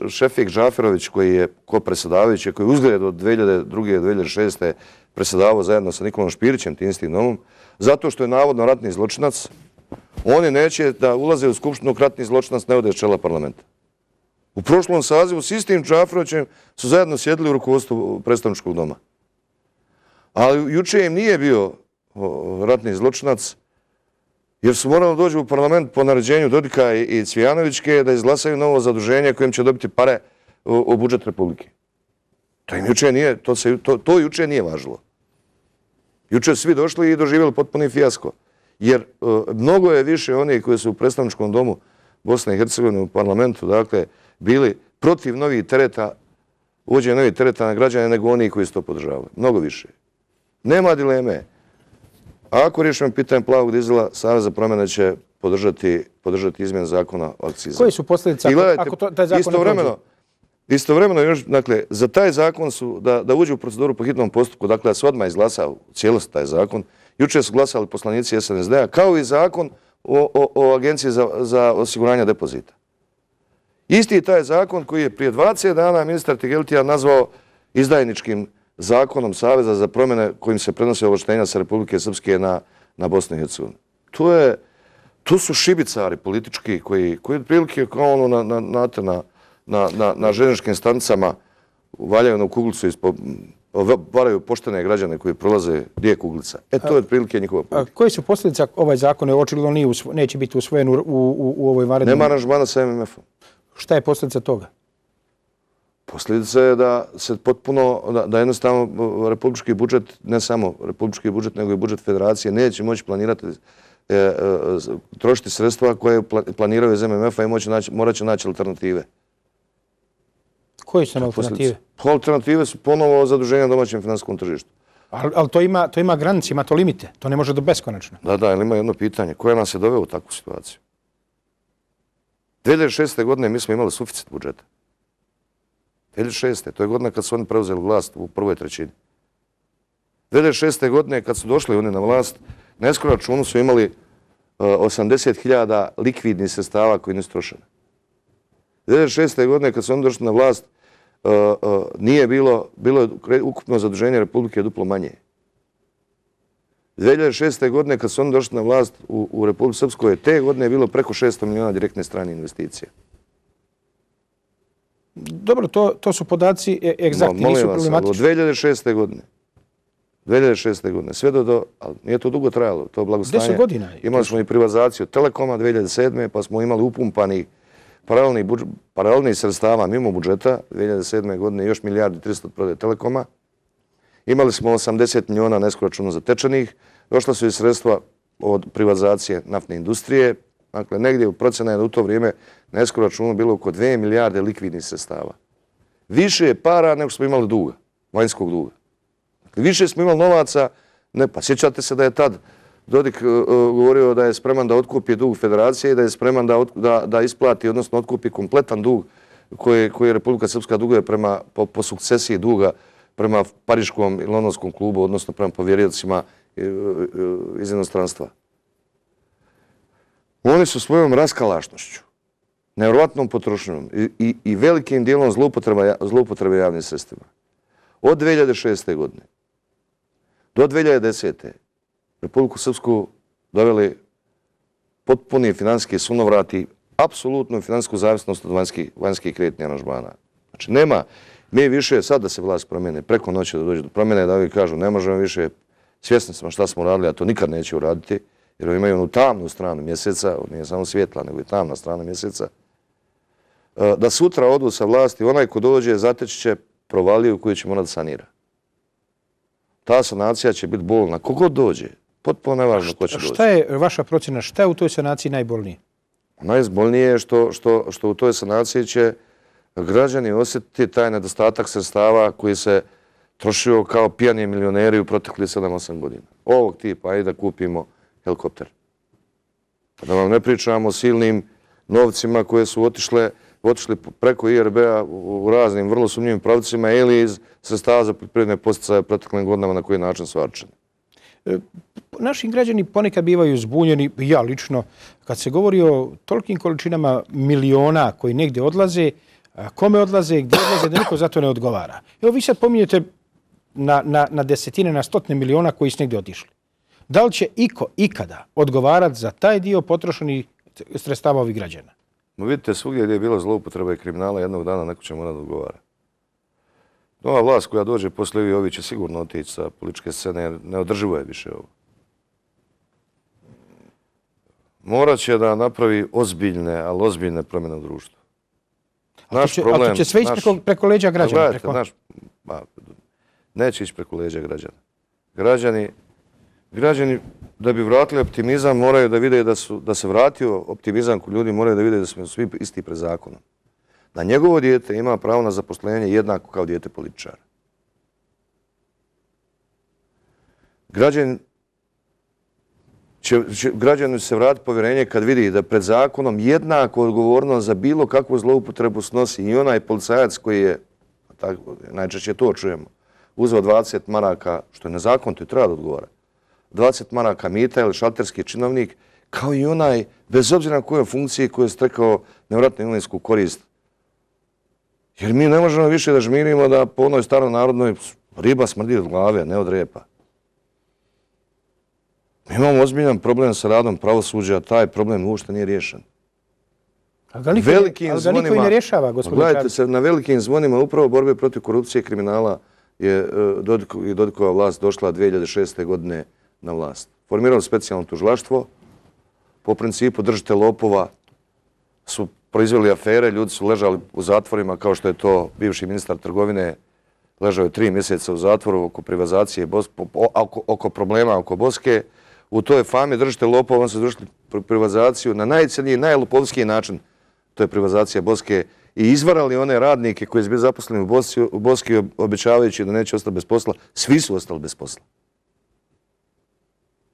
Šefik Džaferović, koji je ko predsjedavajući, koji je uzgled od dvije hiljade druge do dvije hiljade šeste predsjedavao zajedno sa Nikolom Špirićem, tim istim domom, zato što je navodno ratni zločinac, oni neće da ulaze u skupštinu ratni zločinac ne ode s čela parlamenta. U prošlom sazivu s istim Džaferovićem su zajedno sjedili u rukovodstvu predstavničkog doma. Ali juče im nije bio ratni zločinac, jer su morali doći u parlament po naređenju Dodika i Cvijanovićke da izglasaju novo zaduženje kojim će dobiti pare u budžet Republike. To im juče nije, to, se, to, to juče nije važilo. Juče svi došli i doživjeli potpuni fijasko. Jer uh, mnogo je više onih koji su u predstavničkom domu Bosne i Hercegovine u parlamentu, dakle, bili protiv novih tereta, uvođenja novih tereta na građane nego oni koji su to podržavali. Mnogo više. Nema dileme. A ako riješimo pitanje plavog dizela, Savez za promjene će podržati, podržati izmjenu zakona o akcizama.
Koje su posljedice ako, ako to, taj zakon
istovremeno, ne prođe? Istovremeno, još, dakle, za taj zakon su, da, da uđe u proceduru po hitnom postupku, dakle, da se odmah izglasa u cijelosti taj zakon. Juče su glasali poslanici S N S D-a, kao i zakon o, o, o Agenciji za, za osiguranje depozita. Isti taj zakon koji je prije dvadeset dana ministar Tegeltija nazvao izdajničkim zakonom Saveza za promjene kojim se prenose ovlaštenja sa Republike Srpske na, na Bosnu i Hercegovinu. To, je, to su šibicari politički koji, koji otprilike kao ono na, na, na, na, na, na željezničkim stanicama valjaju na kuglicu i varaju poštene građane koji prolaze gdje je kuglica. E, to je otprilike njihova politika.
Koje su posljedice ovaj zakon? Očigledno nije usvo, neće biti usvojen u, u, u ovoj varednoj...
Nema aranžmana sa M M F-om.
Šta je posljedica toga?
Posljedica je da se potpuno, da, da jednostavno republički budžet, ne samo republički budžet, nego i budžet federacije, neće moći planirati, e, e, trošiti sredstva koje planiraju iz M M F-a i moći naći, morat će naći alternative.
Koje su nam alternative?
Pa alternative su ponovo zaduženja na domaćem finansijskom tržištu.
Ali, ali to ima, to ima granice, ima to limite. To ne može do beskonačno.
Da, da, ali ima jedno pitanje. Koja nas je doveo u takvu situaciju? dvije hiljade šeste. godine mi smo imali suficit budžeta. dvije hiljade šeste. To je godina kad su oni preuzeli vlast u prvoj trećini. dvije hiljade šeste. godine kad su došli oni na vlast, na escrow računu su imali uh, osamdeset hiljada likvidnih sredstava koji nisu trošeni. dvije hiljade šeste. godine kad su oni došli na vlast, uh, uh, nije bilo, bilo je ukupno zaduženje Republike duplo manje. dvije hiljade šeste. godine kad su oni došli na vlast u, u Republici Srpskoj, te godine je bilo preko šesto miliona direktne strane investicije.
Dobro, to, to su podaci e, egzaktni,
no,
nisu
vas,
problematični.
od dvije hiljade šeste. godine, dvije hiljade šeste. godine, sve do, do, ali nije to dugo trajalo, to blagostanje.
deset godina.
Imali smo i privatizaciju Telekoma dvije hiljade sedme. pa smo imali upumpani paralelni, budžet, paralelni sredstava mimo budžeta dvije hiljade sedme. godine još milijardi tristo od prodaje Telekoma. Imali smo osamdeset miliona na escrow računu zatečenih, došla su i sredstva od privatizacije naftne industrije. Dakle, negdje u procena je da u to vrijeme na escrow računu bilo oko dvije milijarde likvidnih sredstava. Više je para nego što smo imali duga, vanjskog duga. Dakle, više smo imali novaca, ne, pa sjećate se da je tad Dodik uh, uh, govorio da je spreman da otkupi dug federacije i da je spreman da, da, da isplati, odnosno otkupi kompletan dug koji, koji Republika Srpska duguje prema, po, po sukcesiji duga prema Pariškom i Londonskom klubu, odnosno prema povjeriocima iz inostranstva. Oni su svojom raskalašnošću, nevjerovatnom potrošnjom i, i, i velikim dijelom zloupotrebe javnim sredstvima od dvije hiljade šeste. godine do dvije hiljade desete. Republiku Srpsku doveli potpuni finansijski sunovrati, apsolutnu finansijsku zavisnost od vanjskih, vanjskih kreditnih aranžmana. Znači, nema, mi više, sad da se vlast promijene, preko noći da dođe do promjene, da ovi kažu ne možemo više, svjesni smo šta smo radili, a to nikad neće uraditi, jer imaju onu tamnu stranu mjeseca, nije samo svjetla, nego i tamna strana mjeseca, da sutra odu sa vlasti, onaj ko dođe zateći će provaliju koju će morati da sanira. Ta sanacija će biti bolna. Kogod dođe, potpuno nevažno ko će doći.
Šta je vaša procjena, šta je u toj sanaciji najbolnije?
Najbolnije je što, što, što u toj sanaciji će građani osjetiti taj nedostatak sredstava koji se trošio kao pijani milioneri u proteklih sedam osam godina. Ovog tipa, ajde da kupimo helikopter. Da vam ne pričamo o silnim novcima koje su otišle, otišli preko I R B-a u raznim vrlo sumnjivim pravcima ili iz sredstava za poljoprivredne posticaje proteklim godinama na koji način su varčeni.
Naši građani ponekad bivaju zbunjeni, ja lično, kad se govori o tolikim količinama miliona koji negdje odlaze, kome odlaze, gdje odlaze, da niko za to ne odgovara. Evo vi sad pominjete na, na, na desetine, na stotine miliona koji su negdje otišli. Da li će iko ikada odgovarati za taj dio potrošenih sredstava ovih građana?
No vidite, svugdje gdje je bilo zloupotreba i kriminala, jednog dana neko će morati odgovara. Nova vlast koja dođe poslije ovi će sigurno otići sa političke scene, jer neodrživo je više ovo. Morat će da napravi ozbiljne, ali ozbiljne promjene u društvu.
Naš će, problem, ali to će sve ići preko, preko leđa građana.
Gledajte,
preko...
naš, ba, neće ići preko leđa građana. Građani, građani da bi vratili optimizam moraju da vide da, su, da se vratio optimizam kod ljudi, moraju da vide da smo svi isti pred zakonom. Da njegovo dijete ima pravo na zaposlenje jednako kao dijete političara. Građan će, će, građanu se vratiti povjerenje kad vidi da pred zakonom jednako odgovorno za bilo kakvu zloupotrebu snosi i onaj policajac koji je, tako, najčešće to čujemo, uzeo dvadeset maraka, što je nezakonito i treba da odgovara, dvadeset maraka mita ili šalterski činovnik, kao i onaj, bez obzira na kojoj funkciji koji je stekao nevjerojatnu imovinsku korist. Jer mi ne možemo više da žmirimo da po onoj staronarodnoj riba smrdi od glave, ne od repa. Mi imamo ozbiljan problem sa radom pravosuđa, taj problem uopšte nije riješen.
Ali ga niko, velikim ali ga niko zvonima, i ne rješava, gospodin Čavić.
Gledajte se, na velikim zvonima upravo borbe protiv korupcije i kriminala je i Dodikova vlast došla dvije hiljade šeste. godine na vlast. Formirali specijalno tužilaštvo, po principu držite lopova su proizveli afere, ljudi su ležali u zatvorima, kao što je to bivši ministar trgovine, ležao je tri mjeseca u zatvoru oko privatizacije, oko, oko problema oko Boske. U toj fami držite lopova, on se izvršili privatizaciju na najcrniji, najlopovskiji način. To je privatizacija Boske i izvarali one radnike koji su bili zaposleni u Boski, u Boski obećavajući da neće ostati bez posla. Svi su ostali bez posla.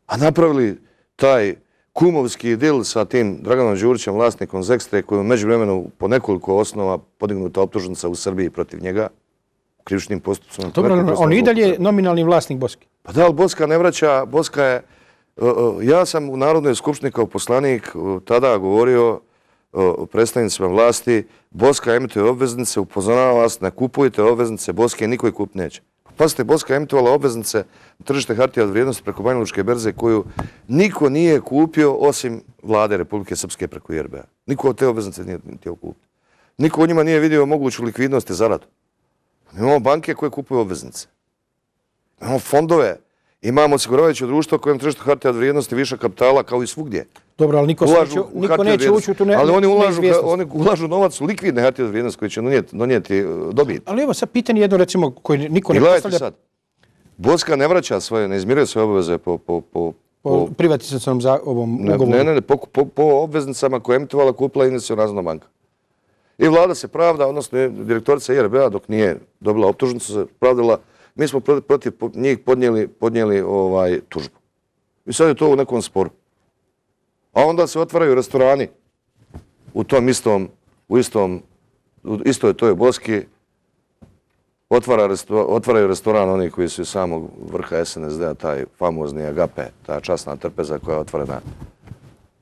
A napravili taj kumovski dil sa tim Draganom Đurićem, vlasnikom Zekstre, koji je u međuvremenu po nekoliko osnova podignuta optužnica u Srbiji protiv njega, u krivičnim postupcima.
Dobro, on i dalje nominalni vlasnik Boske.
Pa da, ali Boska ne vraća, Boska je... Ja sam u Narodnoj skupštini kao poslanik tada govorio o predstavnicima vlasti, Boska emituje obveznice, upozorava vas, ne kupujte obveznice Boske, niko ih kup neće. Pazite, Boska je emitovala obveznice na tržište hartija od vrijednosti preko Banjalučke berze koju niko nije kupio osim vlade Republike Srpske preko I R B-a. Niko od te obveznice nije htio kupiti. Niko u njima nije vidio moguću likvidnost i zaradu. Imamo banke koje kupuju obveznice. Imamo fondove. Imamo osiguravajuće društvo koje na tržištu hartija od vrijednosti viša kapitala kao i svugdje.
Dobro, ali niko, neće, niko neće ući u tu neizvjesnost.
Ali oni ulažu, oni ulažu novac u likvidne hartije od vrijednosti koje će donijeti, donijeti dobit.
Ali evo sad pitanje jedno recimo koje niko
I
ne postavlja.
Sad, Boska ne vraća svoje, ne izmiruje svoje obaveze po... po, po,
po privatizacijom za ovom ugovoru.
Ne, ne, ne, po, po, po obveznicama koje je emitovala kupila Investicionalna banka. I vlada se pravda, odnosno direktorica I R B-a dok nije dobila optužnicu se pravdala. Mi smo protiv njih podnijeli, podnijeli ovaj, tužbu. I sad je to u nekom sporu. A onda se otvaraju restorani u tom istom, u istom, u istoj toj Boski. Otvara resto, otvaraju restoran oni koji su iz samog vrha S N S D-a, taj famozni Agape, ta časna trpeza koja je otvorena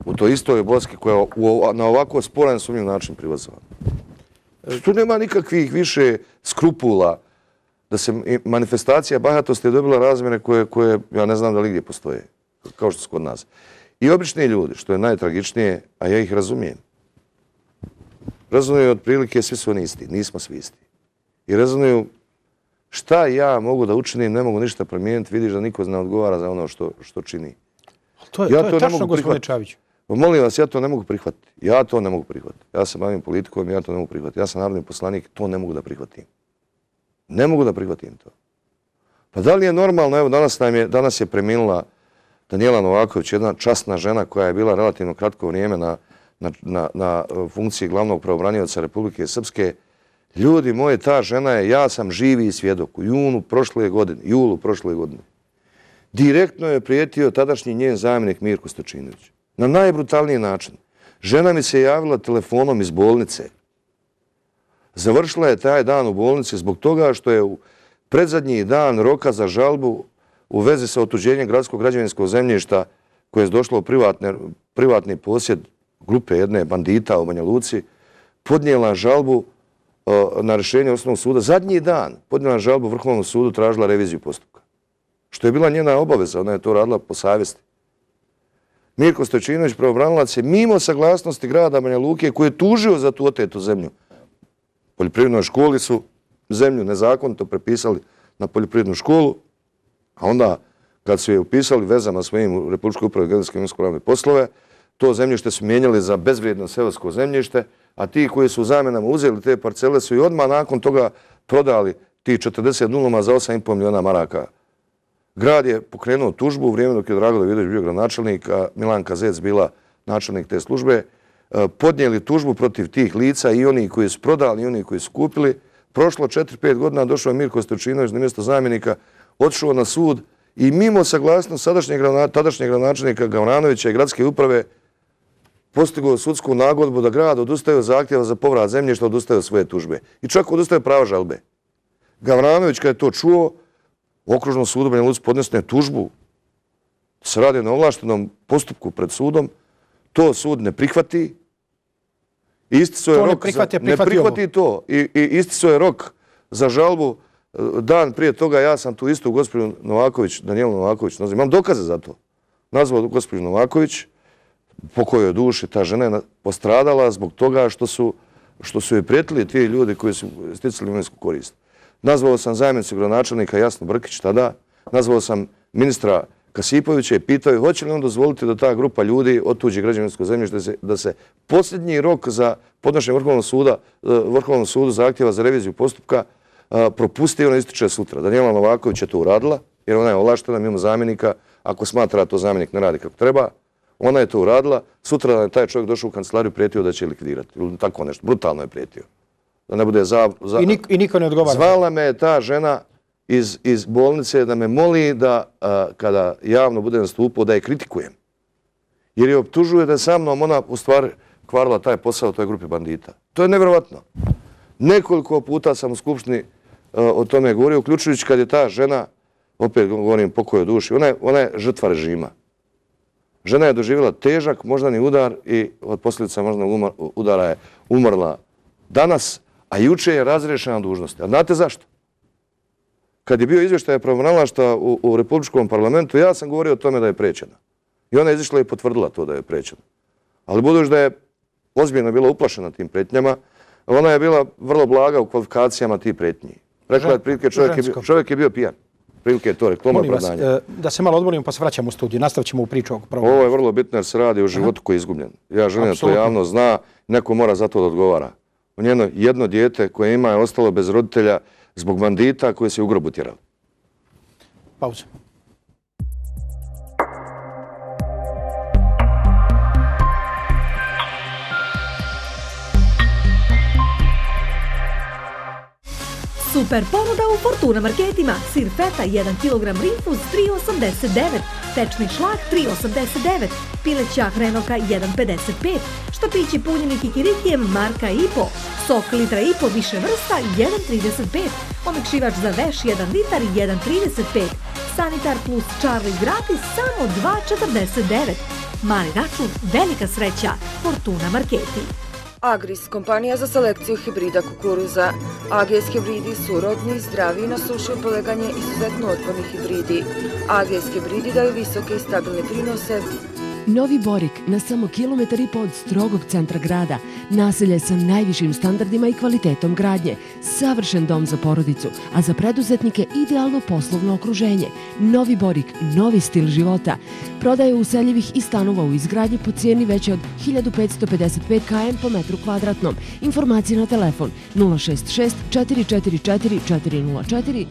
u toj istoj Boski koja je u, na ovako sporan sumnjiv način privatizovana. Tu nema nikakvih više skrupula da se manifestacija bahatosti je dobila razmjere koje, koje ja ne znam da li gdje postoje, kao što su kod nas. I obični ljudi, što je najtragičnije, a ja ih razumijem. Razumiju otprilike, svi su oni isti, nismo svi isti. I razumiju šta ja mogu da učinim, ne mogu ništa promijeniti, vidiš da niko ne odgovara za ono što, što čini.
To je, ja to je to tačno, gospodine Čavić.
Molim vas, ja to ne mogu prihvatiti. Ja to ne mogu prihvatiti. Ja se bavim politikom, ja to ne mogu prihvatiti. Ja sam narodni poslanik, to ne mogu da prihvatim. Ne mogu da prihvatim to. Pa da li je normalno, evo danas, nam je, danas je preminula Danijela Novaković, jedna časna žena koja je bila relativno kratko vrijeme na, na, na, na funkciji glavnog pravobranioca Republike Srpske. Ljudi moji, ta žena je, ja sam živi svjedok, u junu prošle godine, julu prošle godine. Direktno je prijetio tadašnji njen zamjenik Mirko Stočinović. Na najbrutalniji način. Žena mi se javila telefonom iz bolnice. Završila je taj dan u bolnici zbog toga što je u predzadnji dan roka za žalbu u vezi sa otuđenjem gradskog građevinskog zemljišta koje je došlo u privatne, privatni posjed grupe jedne bandita u Banja Luci, podnijela žalbu uh, na rješenje osnovnog suda. Zadnji dan podnijela žalbu Vrhovnom sudu, tražila reviziju postupka. Što je bila njena obaveza, ona je to radila po savjesti. Mirko Stočinović, pravobranilac, je mimo saglasnosti grada Banja Luke koji je tužio za tu otetu zemlju. Poljoprivrednoj školi su zemlju nezakonito prepisali na poljoprivrednu školu, a onda kad su je upisali vezama svojim u Republičkoj upravi geodetske i imovinsko-pravne poslove, to zemljište su mijenjali za bezvrijedno seosko zemljište, a ti koji su u zamjenama uzeli te parcele su i odmah nakon toga prodali ti četrdeset nuluma za osam i pol miliona maraka. Grad je pokrenuo tužbu u vrijeme dok je Drago Davidović bio gradonačelnik, a Milanka Zec bila načelnik te službe, podnijeli tužbu protiv tih lica i oni koji su prodali i oni koji su kupili. Prošlo četiri pet godina, došao je Mirko Stočinović na mjesto zamjenika, otišao na sud i mimo saglasnosti sadašnjeg tadašnjeg gradonačelnika Gavranovića i gradske uprave postigao sudsku nagodbu da grad odustaje od zahtjeva za povrat zemljišta, odustaje od svoje tužbe. I čak odustaje prava žalbe. Gavranović kad je to čuo, u okružnom sudu Banja Luci podnesne tužbu, se radi na ovlaštenom postupku pred sudom, to sud ne prihvati. Isticao je rok za, ne prihvati to. I, i isticao je rok za žalbu. Dan prije toga ja sam tu istu gospođu Novaković, Danijelu Novaković, nazvao. Imam dokaze za to. Nazvao gospođu Novaković, po kojoj duši ta žena je postradala zbog toga što su, što su joj prijetili ti ljudi koji su sticali imovinsku korist. Nazvao sam zamjenicu gradonačelnika Jasnu Brkić tada, nazvao sam ministra Kasipovića i pitao hoće li on dozvoliti da ta grupa ljudi otuđi građevinsko zemljište, da se, da se posljednji rok za podnošenje Vrhovnog suda, Vrhovnom sudu zahtjeva za reviziju postupka propusti i ona ističe sutra. Danijela Novaković je to uradila, jer ona je ovlaštena mimo zamjenika, ako smatra to zamjenik ne radi kako treba, ona je to uradila, sutra je taj čovjek došao u kancelariju, prijetio da će likvidirati. Ili tako nešto, brutalno je prijetio. Da ne bude za... za...
I, nik, I niko ne odgovara.
Zvala me ta žena iz, iz bolnice da me moli da a, kada javno bude nastupao da je kritikujem. Jer je optužuje da je sa mnom ona u stvari kvarila taj posao u toj grupi bandita. To je nevjerovatno. Nekoliko puta sam u Skupštini a, o tome govorio, uključujući kad je ta žena, opet govorim pokoj o duši, ona je, ona je žrtva režima. Žena je doživjela težak moždani udar i od posljedica moždanog udara je umrla danas, a juče je razrešena dužnosti. A znate zašto? Kad je bio izvještaj pravobranilaštva u, u Republičkom parlamentu, ja sam govorio o tome da je prečena. I ona je izišla i potvrdila to da je prečena. Ali budući da je ozbiljno bila uplašena tim pretnjama, ona je bila vrlo blaga u kvalifikacijama tih pretnji. Rekla je prilike, čovjek je, bio, čovjek je bio pijan. Prilike je to rekla,
molim vas, da se malo odmorimo pa se vraćamo u studiju. Nastavit ćemo u priču ovog pravobranilaštva.
Ovo je vrlo bitno jer se radi o životu koji je izgubljen. Ja želim da to javno zna, neko mora za to da odgovara. Njeno jedno dijete koje ima je ostalo bez roditelja zbog bandita koje se u grobu tjerali.
Pauza.
Super ponuda u Fortuna marketima. Sir feta jedan kilogram Rinfuz tri osamdeset devet, tečni šlag tri osamdeset devet, pileća hrenovka jedan pedeset pet, štapići punjeni kikirikijem marka i po, sok litra i po više vrsta jedan trideset pet, omekšivač za veš jedan litar jedan trideset pet, Sanitar plus Charlie gratis samo dva četrdeset devet. Mali račun, velika sreća. Fortuna marketi.
Agris, kompanija za selekciju hibrida kukuruza. A G S hibridi su rodni, zdravi, na sušu i poleganje izuzetno otporni hibridi. A G S hibridi daju visoke i stabilne prinose.
Novi Borik, na samo kilometar i po od strogog centra grada, naselje sa najvišim standardima i kvalitetom gradnje, savršen dom za porodicu, a za preduzetnike idealno poslovno okruženje. Novi Borik, novi stil života. Prodaje useljivih i stanova u izgradnji po cijeni veće od hiljadu petsto pedeset pet km po metru kvadratnom. Informacije na telefon nula šest šest četiri četiri četiri četiri nula četiri.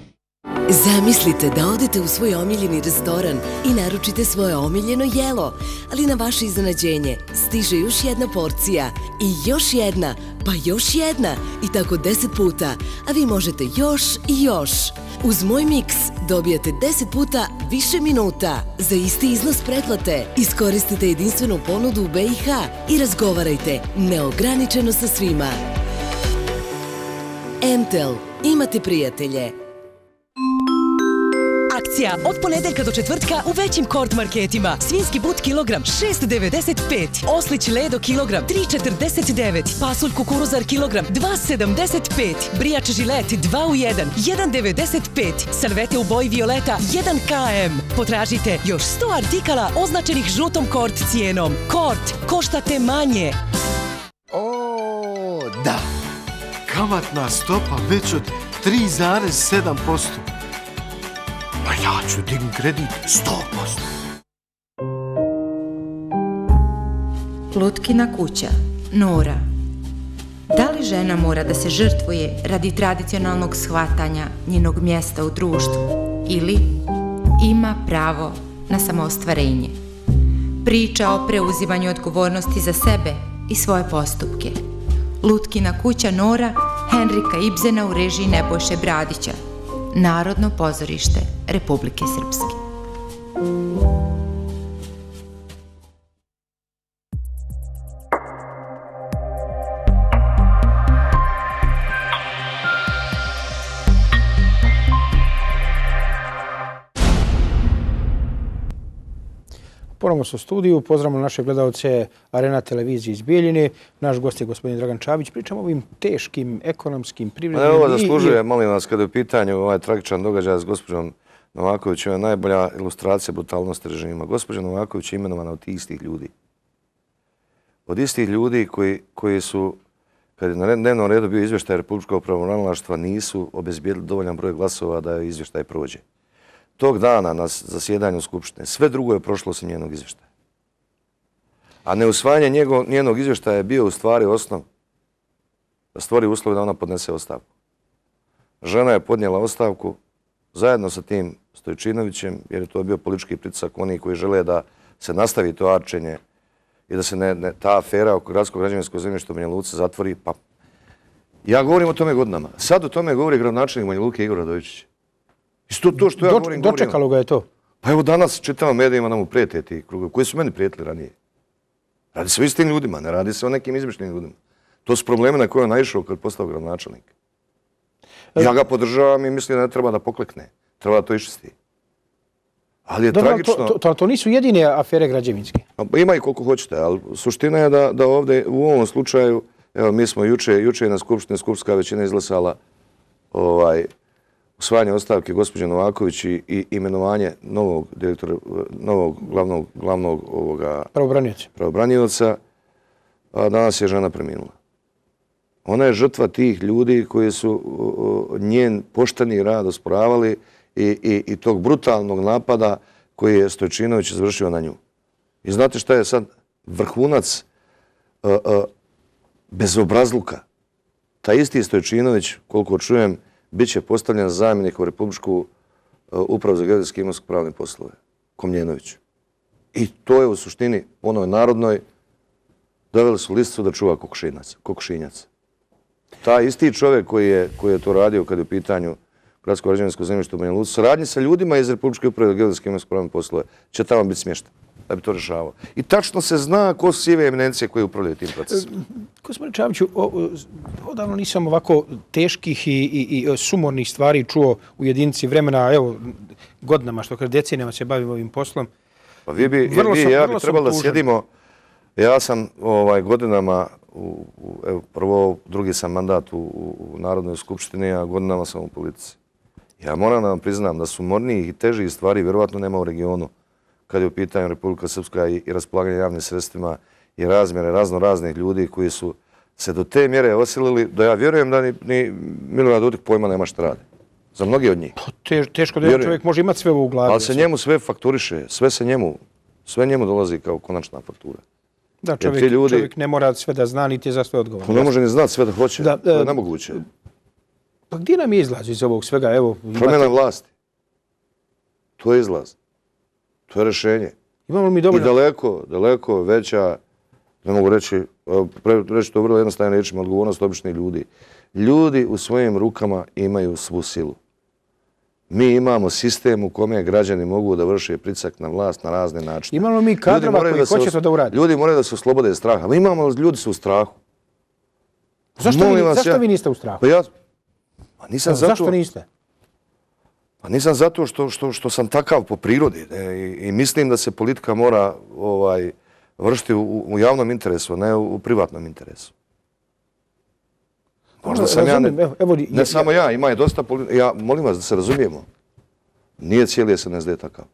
Zamislite da odete u svoj omiljeni restoran i naručite svoje omiljeno jelo, ali na vaše iznenađenje stiže još jedna porcija i još jedna, pa još jedna i tako deset puta, a vi možete još i još. Uz Moj Miks dobijate deset puta više minuta za isti iznos pretplate. Iskoristite jedinstvenu ponudu u B i H i razgovarajte neograničeno sa svima. M T E L. Imate prijatelje.
Akcija od ponedeljka do četvrtka u većim Kord marketima. Svinjski but kilogram šest devedeset pet, oslić ledo kilogram tri četrdeset devet, pasulj kukuruzar kilogram dva sedamdeset pet, brijač žilet dva u jedan jedan devedeset pet, salvete u boji violeta jedan kilogram. Potražite još sto artikala označenih žutom Kord cijenom. Kord, koštate manje.
O, da. Kamatna stopa već od tri zarez sedam posto. Pa ja ću dignuti kredit sto posto.
Lutkina kuća, Nora. Da li žena mora da se žrtvuje radi tradicionalnog shvatanja njenog mjesta u društvu ili ima pravo na samoostvarenje? Priča o preuzimanju odgovornosti za sebe i svoje postupke. Lutkina kuća, Nora, Henrika Ibzena u režiji Nebojše Bradića. Narodno pozorište Republike Srpske.
Ponovno su u studiju. Pozdravljamo naše gledalce Arena televizije iz Bijeljine. Naš gost je gospodin Dragan Čavić. Pričamo o ovim teškim ekonomskim, privrednim...
Ovo zaslužuje, molim vas, kada je u pitanju ovaj tragičan događaj s gospođom Novakovićem, je najbolja ilustracija brutalnosti režima. Gospođa Novaković je imenovana od istih ljudi. Od istih ljudi koji, koji su, kad je na dnevnom redu bio izvještaj Republičkog pravobranilaštva, nisu obezbijedili dovoljan broj glasova da izvještaj prođe. tog dana na zasjedanju Skupštine. Sve drugo je prošlo osim njenog izvještaja. A neusvajanje njenog izvještaja je bio u stvari osnov da stvori uslove da ona podnese ostavku. Žena je podnijela ostavku zajedno sa tim Stojčinovićem, jer je to bio politički pritisak oni koji žele da se nastavi to arčenje i da se ne, ne, ta afera oko gradskog građevinskog zemljišta u Banja Luci zatvori. Pa ja govorim o tome godinama. Sad o tome govori gradonačelnik Banja Luke Igor Radojičić. Isto to što ja
Do,
govorim,
dočekalo
govorim.
ga je to.
Pa evo danas čitamo medijima da mu prijete ti krugovi. Koji su meni prijetili ranije? Radi se o istim ljudima, ne radi se o nekim izmišljenim ljudima. To su probleme na koje je naišao kad je postao gradonačelnik. Ja ga podržavam i mislim da ne treba da poklekne. Treba da to iščisti. Ali je
Dobro,
tragično...
To, to, to nisu jedine afere građevinske.
Ima i koliko hoćete, ali suština je da, da ovdje u ovom slučaju, evo mi smo juče, juče na Skupštini, Skupštinska većina izglasala ovaj, usvajanje ostavke gospođe Novaković i, i imenovanje novog direktora, novog glavnog, glavnog ovoga...
Pravobranioca.
Pravobranioca, a danas je žena preminula. Ona je žrtva tih ljudi koji su uh, njen pošteni rad osporavali i, i, i tog brutalnog napada koji je Stojčinović izvršio na nju. I znate šta je sad vrhunac uh, uh, bezobrazluka? Taj isti Stojčinović, koliko čujem, bit će postavljen zamjenik u Republičku uh, upravu za geodetske i imovinsko-pravne poslove, Komljenović. I to je u suštini, onoj narodnoj, doveli su listicu da čuva kokošinjac. Taj isti čovjek koji je, koji je to radio kad je u pitanju gradsko građevinsko zemljište u Banja Luci, saradnji sa ljudima iz Republičke uprave za geodetske i imovinsko-pravne poslove, će tamo biti smješten da bi to rešavao. I tačno se zna ko su sive eminencije koje upravljaju tim procesom.
Gospodine Čaviću, odavno nisam ovako teških i, i, i sumornih stvari čuo u jedinici vremena, evo, godinama, što kada decenijama se bavim ovim poslom.
Pa vi bi,
vrlo
vi,
sam,
ja
vrlo
bi trebalo da sjedimo, ja sam ovaj, godinama, u, u, evo, prvo, drugi sam mandat u, u Narodnoj skupštini, a godinama sam u politici. Ja moram da vam priznam da su mornijih i težih stvari vjerovatno nema u regionu kad je u pitanju Republika Srpska i, i raspolaganje javnim sredstvima i razmjere razno raznih ljudi koji su se do te mjere osilili da ja vjerujem da ni, ni Milorad Dodik pojma nema šta rade. Za mnogi od njih.
Te, teško da jedan čovjek može imati sve u glavi.
Ali se njemu sve fakturiše, sve se njemu, sve njemu dolazi kao konačna faktura.
Da, čovjek,
ljudi,
čovjek ne mora sve da zna, niti je za sve odgovorno.
Ne može ni znati sve da hoće, da, to je nemoguće.
Pa gdje nam je izlaz iz ovog svega? Evo,
promjena imate... vlasti. To je izlaz. To je rješenje.
Imamo mi dovoljno...
I daleko, daleko veća, ne mogu reći, reći to vrlo jednostavno rečima, odgovornost običnih ljudi. Ljudi u svojim rukama imaju svu silu. Mi imamo sistem u kome građani mogu da vrše pritisak na vlast na razne načine.
Imamo mi kadrova koji hoće to da uradi.
Ljudi moraju da se oslobode straha. Mi imamo, ljudi su u strahu.
Zašto, vi, zašto ja, vi niste u strahu?
Pa ja, pa nisam zato,
zašto niste?
Pa nisam zato što, što, što sam takav po prirodi. Ne, i, i mislim da se politika mora ovaj, vršiti u, u javnom interesu, ne u, u privatnom interesu. Možda sam
Razumim,
ja, ne,
evo, evo,
ne
ja,
samo ja, ima je dosta politika. Ja molim vas da se razumijemo. Nije cijeli S N S D takav.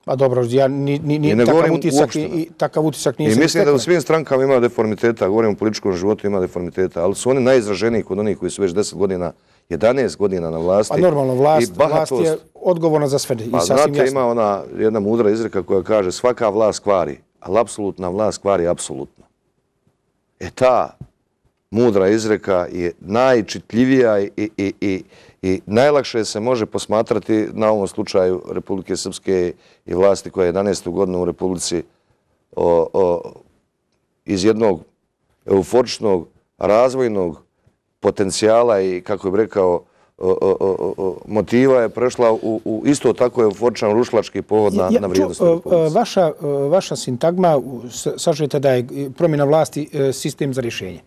Pa dobro, ja ni, ni, ni takav, utisak, i, i, takav utisak nije
I
se
mislim da u svim strankama ima deformiteta, govorim o političkom životu ima deformiteta, ali su oni najizraženiji kod onih koji su već deset godina, jedanaest godina na vlasti.
Pa normalno, vlast, vlast je odgovorna za sve.
Pa znate, ima ona jedna mudra izreka koja kaže svaka vlast kvari, ali apsolutna vlast kvari apsolutno. E ta mudra izreka je najčitljivija i, i, i, i, i najlakše se može posmatrati na ovom slučaju Republike Srpske i vlasti koja je jedanaestu godinu u Republici o, o, iz jednog euforičnog razvojnog potencijala i, kako bih rekao, o, o, o, o, motiva je prešla u, u isto tako euforičan rušlački povod na, ja, na vrijednost Republike.
Vaša, vaša sintagma, sažete da je promjena vlasti sistem za rješenje.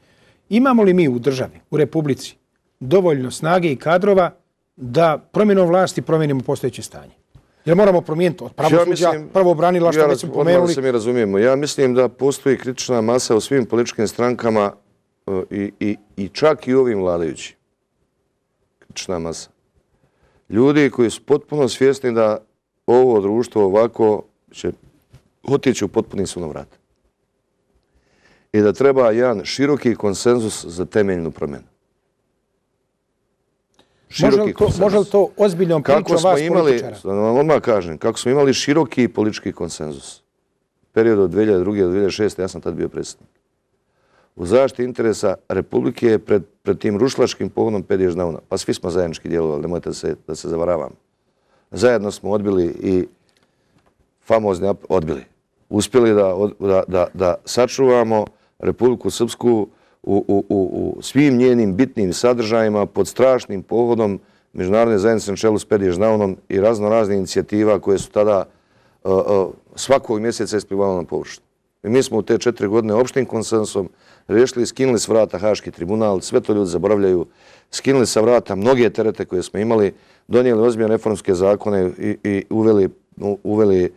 Imamo li mi u državi, u Republici, dovoljno snage i kadrova da promjenom vlasti promijenimo postojeće stanje? Jer moramo promijeniti od pravosuđa, ja prvo branila, što ja, već smo pomenuli.
Da se mi razumijemo. Ja mislim da postoji kritična masa u svim političkim strankama i, i, i čak i ovim vladajućim. Kritična masa. Ljudi koji su potpuno svjesni da ovo društvo ovako će otići u potpuni sunovrat. I da treba jedan široki konsenzus za temeljnu promjenu. široki konsenzus.
Može li to ozbiljnom pričom vas političara?
Da vam odmah kažem, kako smo imali široki politički konsenzus. Period od dvije hiljade druge do dvije hiljade šeste. ja sam tad bio predsjednik. U zaštiti interesa Republike je pred, pred tim rušlačkim pohodom Pedježdavna. Pa svi smo zajednički djelovali, nemojte da se, da se zavaravamo. Zajedno smo odbili i famozni odbili. Uspjeli da, da, da, da sačuvamo Republiku Srpsku u, u, u, u svim njenim bitnim sadržajima pod strašnim pohodom međunarodne zajednice na čelu s Pedježdavnom i razno razne inicijativa koje su tada uh, uh, svakog mjeseca isplivale na površinu. I mi smo u te četiri godine opštim konsensusom riješili, skinuli s vrata Haški tribunal, sve to ljudi zaboravljaju, skinuli sa vrata mnoge terete koje smo imali, donijeli ozbiljne reformske zakone i, i uveli, uveli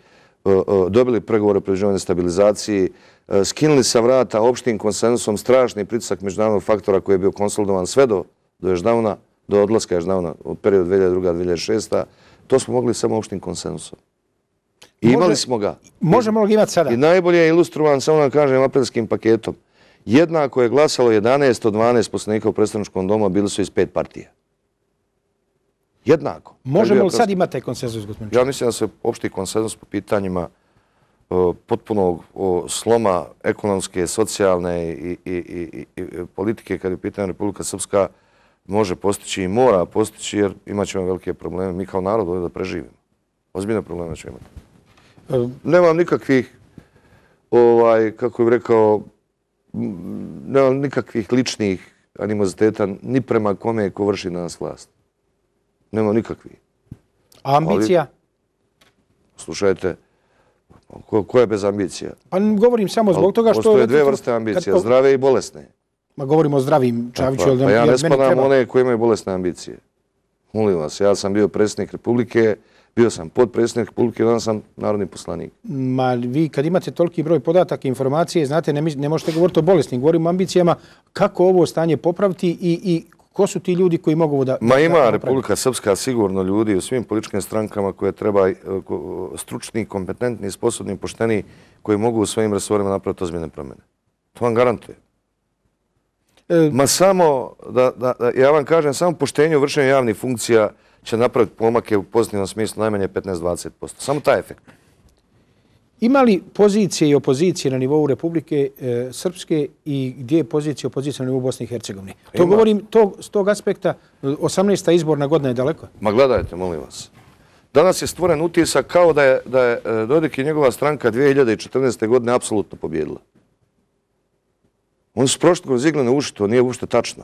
uh, uh, dobili pregovore o pridruživanju stabilizaciji, uh, skinuli sa vrata opštim konsensusom strašni pritisak međunarodnog faktora koji je bio konsolidovan sve do, do Ježdavna, do odlaska Ježdavna u periodu dvije hiljade druge do dvije hiljade šeste. To smo mogli samo opštim konsensusom. I imali Može, smo ga.
Možemo li ga imati sada?
I najbolje je ilustrovan, samo da kažem, apelskim paketom. Jednako je glasalo jedanaest od dvanaest poslanika u predstavničkom domu, bili su iz pet partija. Jednako.
Možemo li sad imati konsenzus, gospodin Čačić?
Ja mislim da se opšti konsenzus po pitanjima uh, potpunog uh, sloma ekonomske, socijalne i, i, i, i politike, kad je pitanje Republika Srpska, može postići i mora postići, jer imat ćemo velike probleme. Mi kao narod ovdje da preživimo. Ozbiljne probleme ćemo imati. Nemam nikakvih, ovaj, kako bih rekao, nemam nikakvih ličnih animoziteta ni prema kome ko vrši na nas vlast. Nemam nikakvih.
A ambicija?
Ali, slušajte, ko, ko je bez ambicija?
Pa govorim samo zbog toga što...
Postoje dve vrste ambicija, kad, zdrave i bolesne.
Ma govorimo o zdravim, Čaviću.
Pa, pa ja ne spadam one koji imaju bolesne ambicije. Molim vas, ja sam bio predsjednik Republike, bio sam podpredsjednik Republike, onda sam narodni poslanik.
Ma vi kad imate toliki broj podataka, informacije, znate, ne, ne možete govoriti o bolesnim, govorimo o ambicijama, kako ovo stanje popraviti i, i ko su ti ljudi koji mogu da...
Ma ima
da
Republika Srpska sigurno ljudi u svim političkim strankama koje treba stručni, kompetentni, sposobni, pošteni, koji mogu u svojim resorima napraviti ozbiljne promjene. To vam garantuje. E, Ma samo, da, da, da, ja vam kažem, samo poštenje u vršenju javnih funkcija će napraviti pomake u pozitivnom smislu najmanje petnaest do dvadeset posto. Samo taj efekt.
Ima li pozicije i opozicije na nivou Republike e, Srpske i gdje je pozicija i opozicija na nivou Bosne i Hercegovine? To Ima. govorim to, s tog aspekta, osamnaesta izborna godina je daleko.
Ma gledajte, molim vas. Danas je stvoren utisak kao da je, da je Dodik i njegova stranka dvije hiljade četrnaeste. godine apsolutno pobjedila. Oni su prošli kroz iglene uši, to nije uopšte tačno.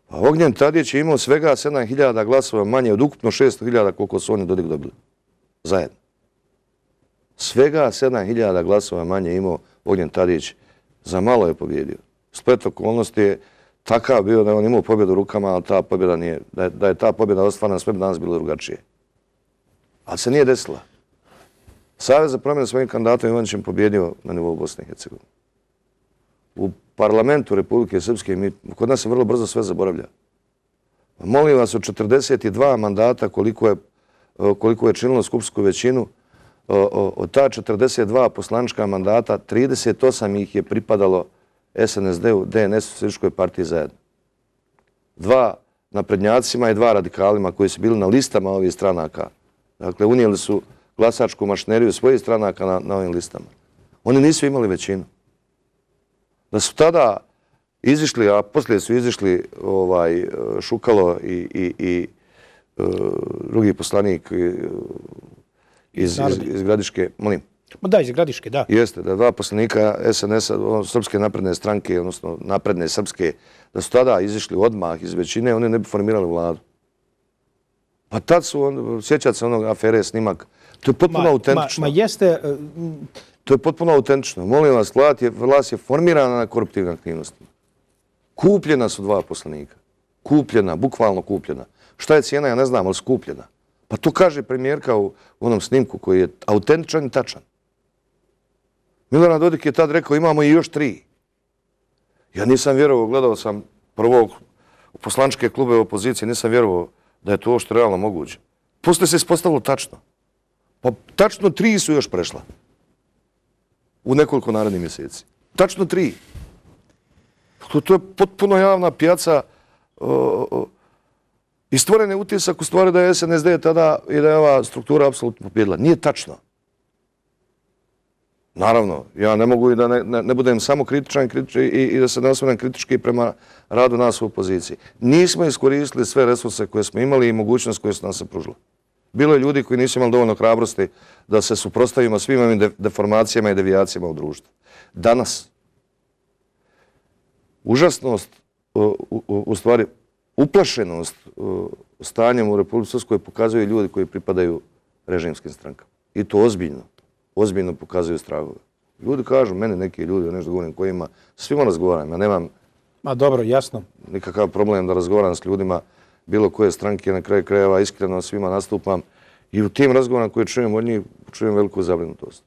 A Ognjen Tadić je imao svega sedam hiljada glasova manje od ukupno šesto hiljada koliko su oni Dodik dobili. Zajedno. Svega sedam hiljada glasova manje imao Ognjen Tadić. Za malo je pobjedio. Splet okolnosti je takav bio da je on imao pobjedu u rukama, ali ta pobjeda nije, da je, da je ta pobjeda ostvarena, sve bi danas bilo drugačije. Ali se nije desila. Savez za promjenu svojim kandidatom Ivanićem pobjedio na nivou Bosne i Hercegovine. U parlamentu Republike Srpske, mi, kod nas se vrlo brzo sve zaboravlja. Molim vas, od četrdeset dva mandata koliko je, koliko je činilo skupsku većinu, od ta četrdeset dva poslanička mandata, trideset osam ih je pripadalo S N S D-u, D N S-u, Socijalističkoj partiji zajedno. Dva naprednjacima i dva radikalima koji su bili na listama ovih stranaka. Dakle, unijeli su glasačku mašineriju svojih stranaka na, na ovim listama. Oni nisu imali većinu. Da su tada izišli, a poslije su izišli ovaj, Šukalo i, i, i uh, drugi poslanik uh, iz, iz, iz Gradiške, molim.
Da, iz Gradiške, da.
Jeste, da dva poslanika S N S-a, Srpske napredne stranke, odnosno napredne srpske, da su tada izišli odmah iz većine, oni ne bi formirali vladu. Pa tad su, on, sjećate se onog afere snimak, to je potpuno ma, autentično.
Ma, ma jeste... Uh,
To je potpuno autentično. Molim vas, vlast je, vlast je formirana na koruptivnim aktivnostima. Kupljena su dva poslanika. Kupljena, bukvalno kupljena. Šta je cijena, ja ne znam, ali skupljena. Pa to kaže premijerka u onom snimku koji je autentičan i tačan. Milorad Dodik je tad rekao, imamo i još tri. Ja nisam vjerovao, gledao sam prvog u poslaničke klube opozicije, nisam vjerovao da je to što realno moguće. Poslije se ispostavilo tačno. Pa tačno tri su još prešla. U nekoliko narednih mjeseci. Tačno tri. To, to je potpuno javna pijaca. O, o, I stvoren je utisak u stvari da je S N S D tada i da je ova struktura apsolutno pobjedila. Nije tačno. Naravno, ja ne mogu i da ne, ne, ne budem samo kritičan i, kritičan i, i da se ne osvrnem kritički prema radu nas u opoziciji. Nismo iskoristili sve resurse koje smo imali i mogućnost koje su nam se pružile. Bilo je ljudi koji nisu imali dovoljno hrabrosti da se suprotstavimo svim ovim de, deformacijama i devijacijama u društvu. Danas, užasnost, u, u, u stvari, uplašenost stanjem u Republici Srpskoj pokazuju ljudi koji pripadaju režimskim strankama. I to ozbiljno. Ozbiljno pokazuju strahove. Ljudi kažu, meni neki ljudi, nešto govorim kojima, svima razgovaram. Ja nemam
Ma dobro, jasno.
nikakav problem da razgovaram s ljudima bilo koje stranke, na kraju krajeva iskreno svima nastupam. I u tim razgovorima koje čujem od njih, čujem veliku zabrinutost.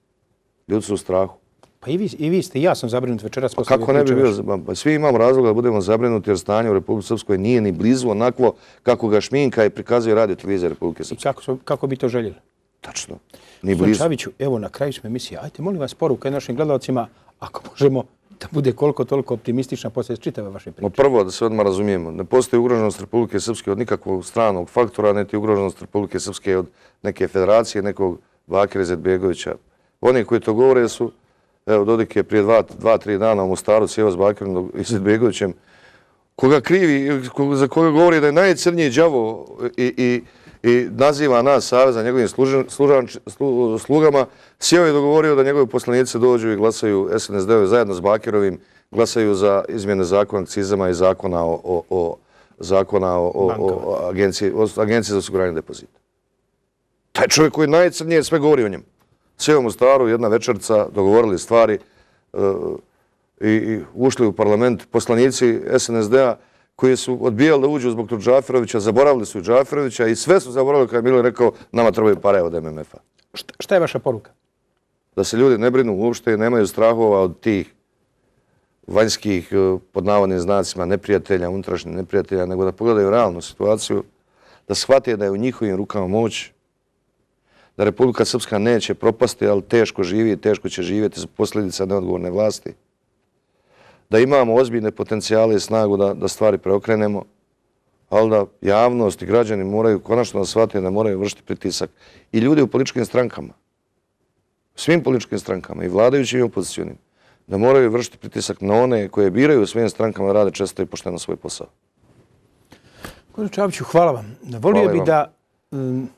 Ljudi su u strahu.
Pa i vi, i vi ste, ja sam zabrinut večeras.
Pa kako ne bi bio? Pa svi imamo razloga da budemo zabrinuti jer stanje u Republici Srpskoj nije ni blizu onakvo kako ga šminka i prikazuje radio televizija Republike Srpske.
I kako, kako bi to željeli?
Tačno. Ni blizu.
Čaviću, evo na kraju smo emisije. Ajte, molim vas, poruka našim gledalcima, ako možemo da bude koliko toliko optimistična poslije čitave vaše priče.
Prvo, da se odmah razumijemo, ne postoji ugroženost Republike Srpske od nikakvog stranog faktora, niti ugroženost Republike Srpske od neke federacije, nekog Bakira Izetbegovića. Oni koji to govore su, evo, Dodik je prije dva, dva, tri dana u Mostaru sjeo s Bakirom Izetbegovićem, koga krivi, za koga govori da je najcrniji đavo i, i i naziva nas Saveza njegovim služan, služan, slu, slugama, sjeo je dogovorio da njegovi poslanici dođu i glasaju S N S D-ovi zajedno s Bakirovim, glasaju za izmjene zakona akcizama i zakona o, o, o, zakona o, o, o, agenciji, o agenciji za osiguranje depozita. Taj čovjek koji najcrnije sve govori o njemu. Sjeo u Mostaru, jedna večerca, dogovorili stvari uh, i, i ušli u parlament poslanici S N S D-a koji su odbijali da uđu zbog tog Džaferovića, zaboravili su Džaferovića i sve su zaboravili kada je Milo rekao nama trebaju pare od M M F-a.
Šta, šta je vaša poruka?
Da se ljudi ne brinu uopšte i nemaju strahova od tih vanjskih, pod navodnim znacima, neprijatelja, unutrašnjih neprijatelja, nego da pogledaju realnu situaciju, da shvate da je u njihovim rukama moć, da Republika Srpska neće propasti, ali teško živi i teško će živjeti za posljedica neodgovorne vlasti, da imamo ozbiljne potencijale i snagu da, da stvari preokrenemo, ali da javnost i građani moraju konačno da shvatiti da moraju vršiti pritisak. I ljudi u političkim strankama, svim političkim strankama, i vladajućim i opozicionim, da moraju vršiti pritisak na one koje biraju u svojim strankama da rade često i pošteno svoj posao.
Gospodin Čaviću, hvala vam. Volio bi da um,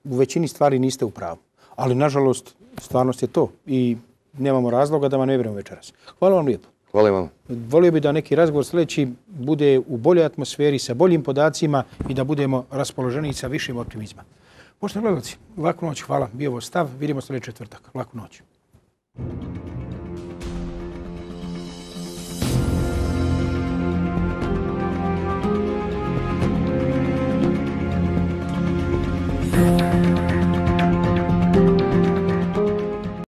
u većini stvari niste u pravu, ali nažalost stvarnost je to i nemamo razloga da vam ne vjerujemo večeras. Hvala vam lijepo.
Hvala vam.
Volio bi da neki razgovor sljedeći bude u boljoj atmosferi, sa boljim podacima i da budemo raspoloženi sa višim optimizma. Poštovani gledalci, laku noć, hvala. Bio ovo stav. Vidimo sljedeći četvrtak. Laku noć.
Thank you.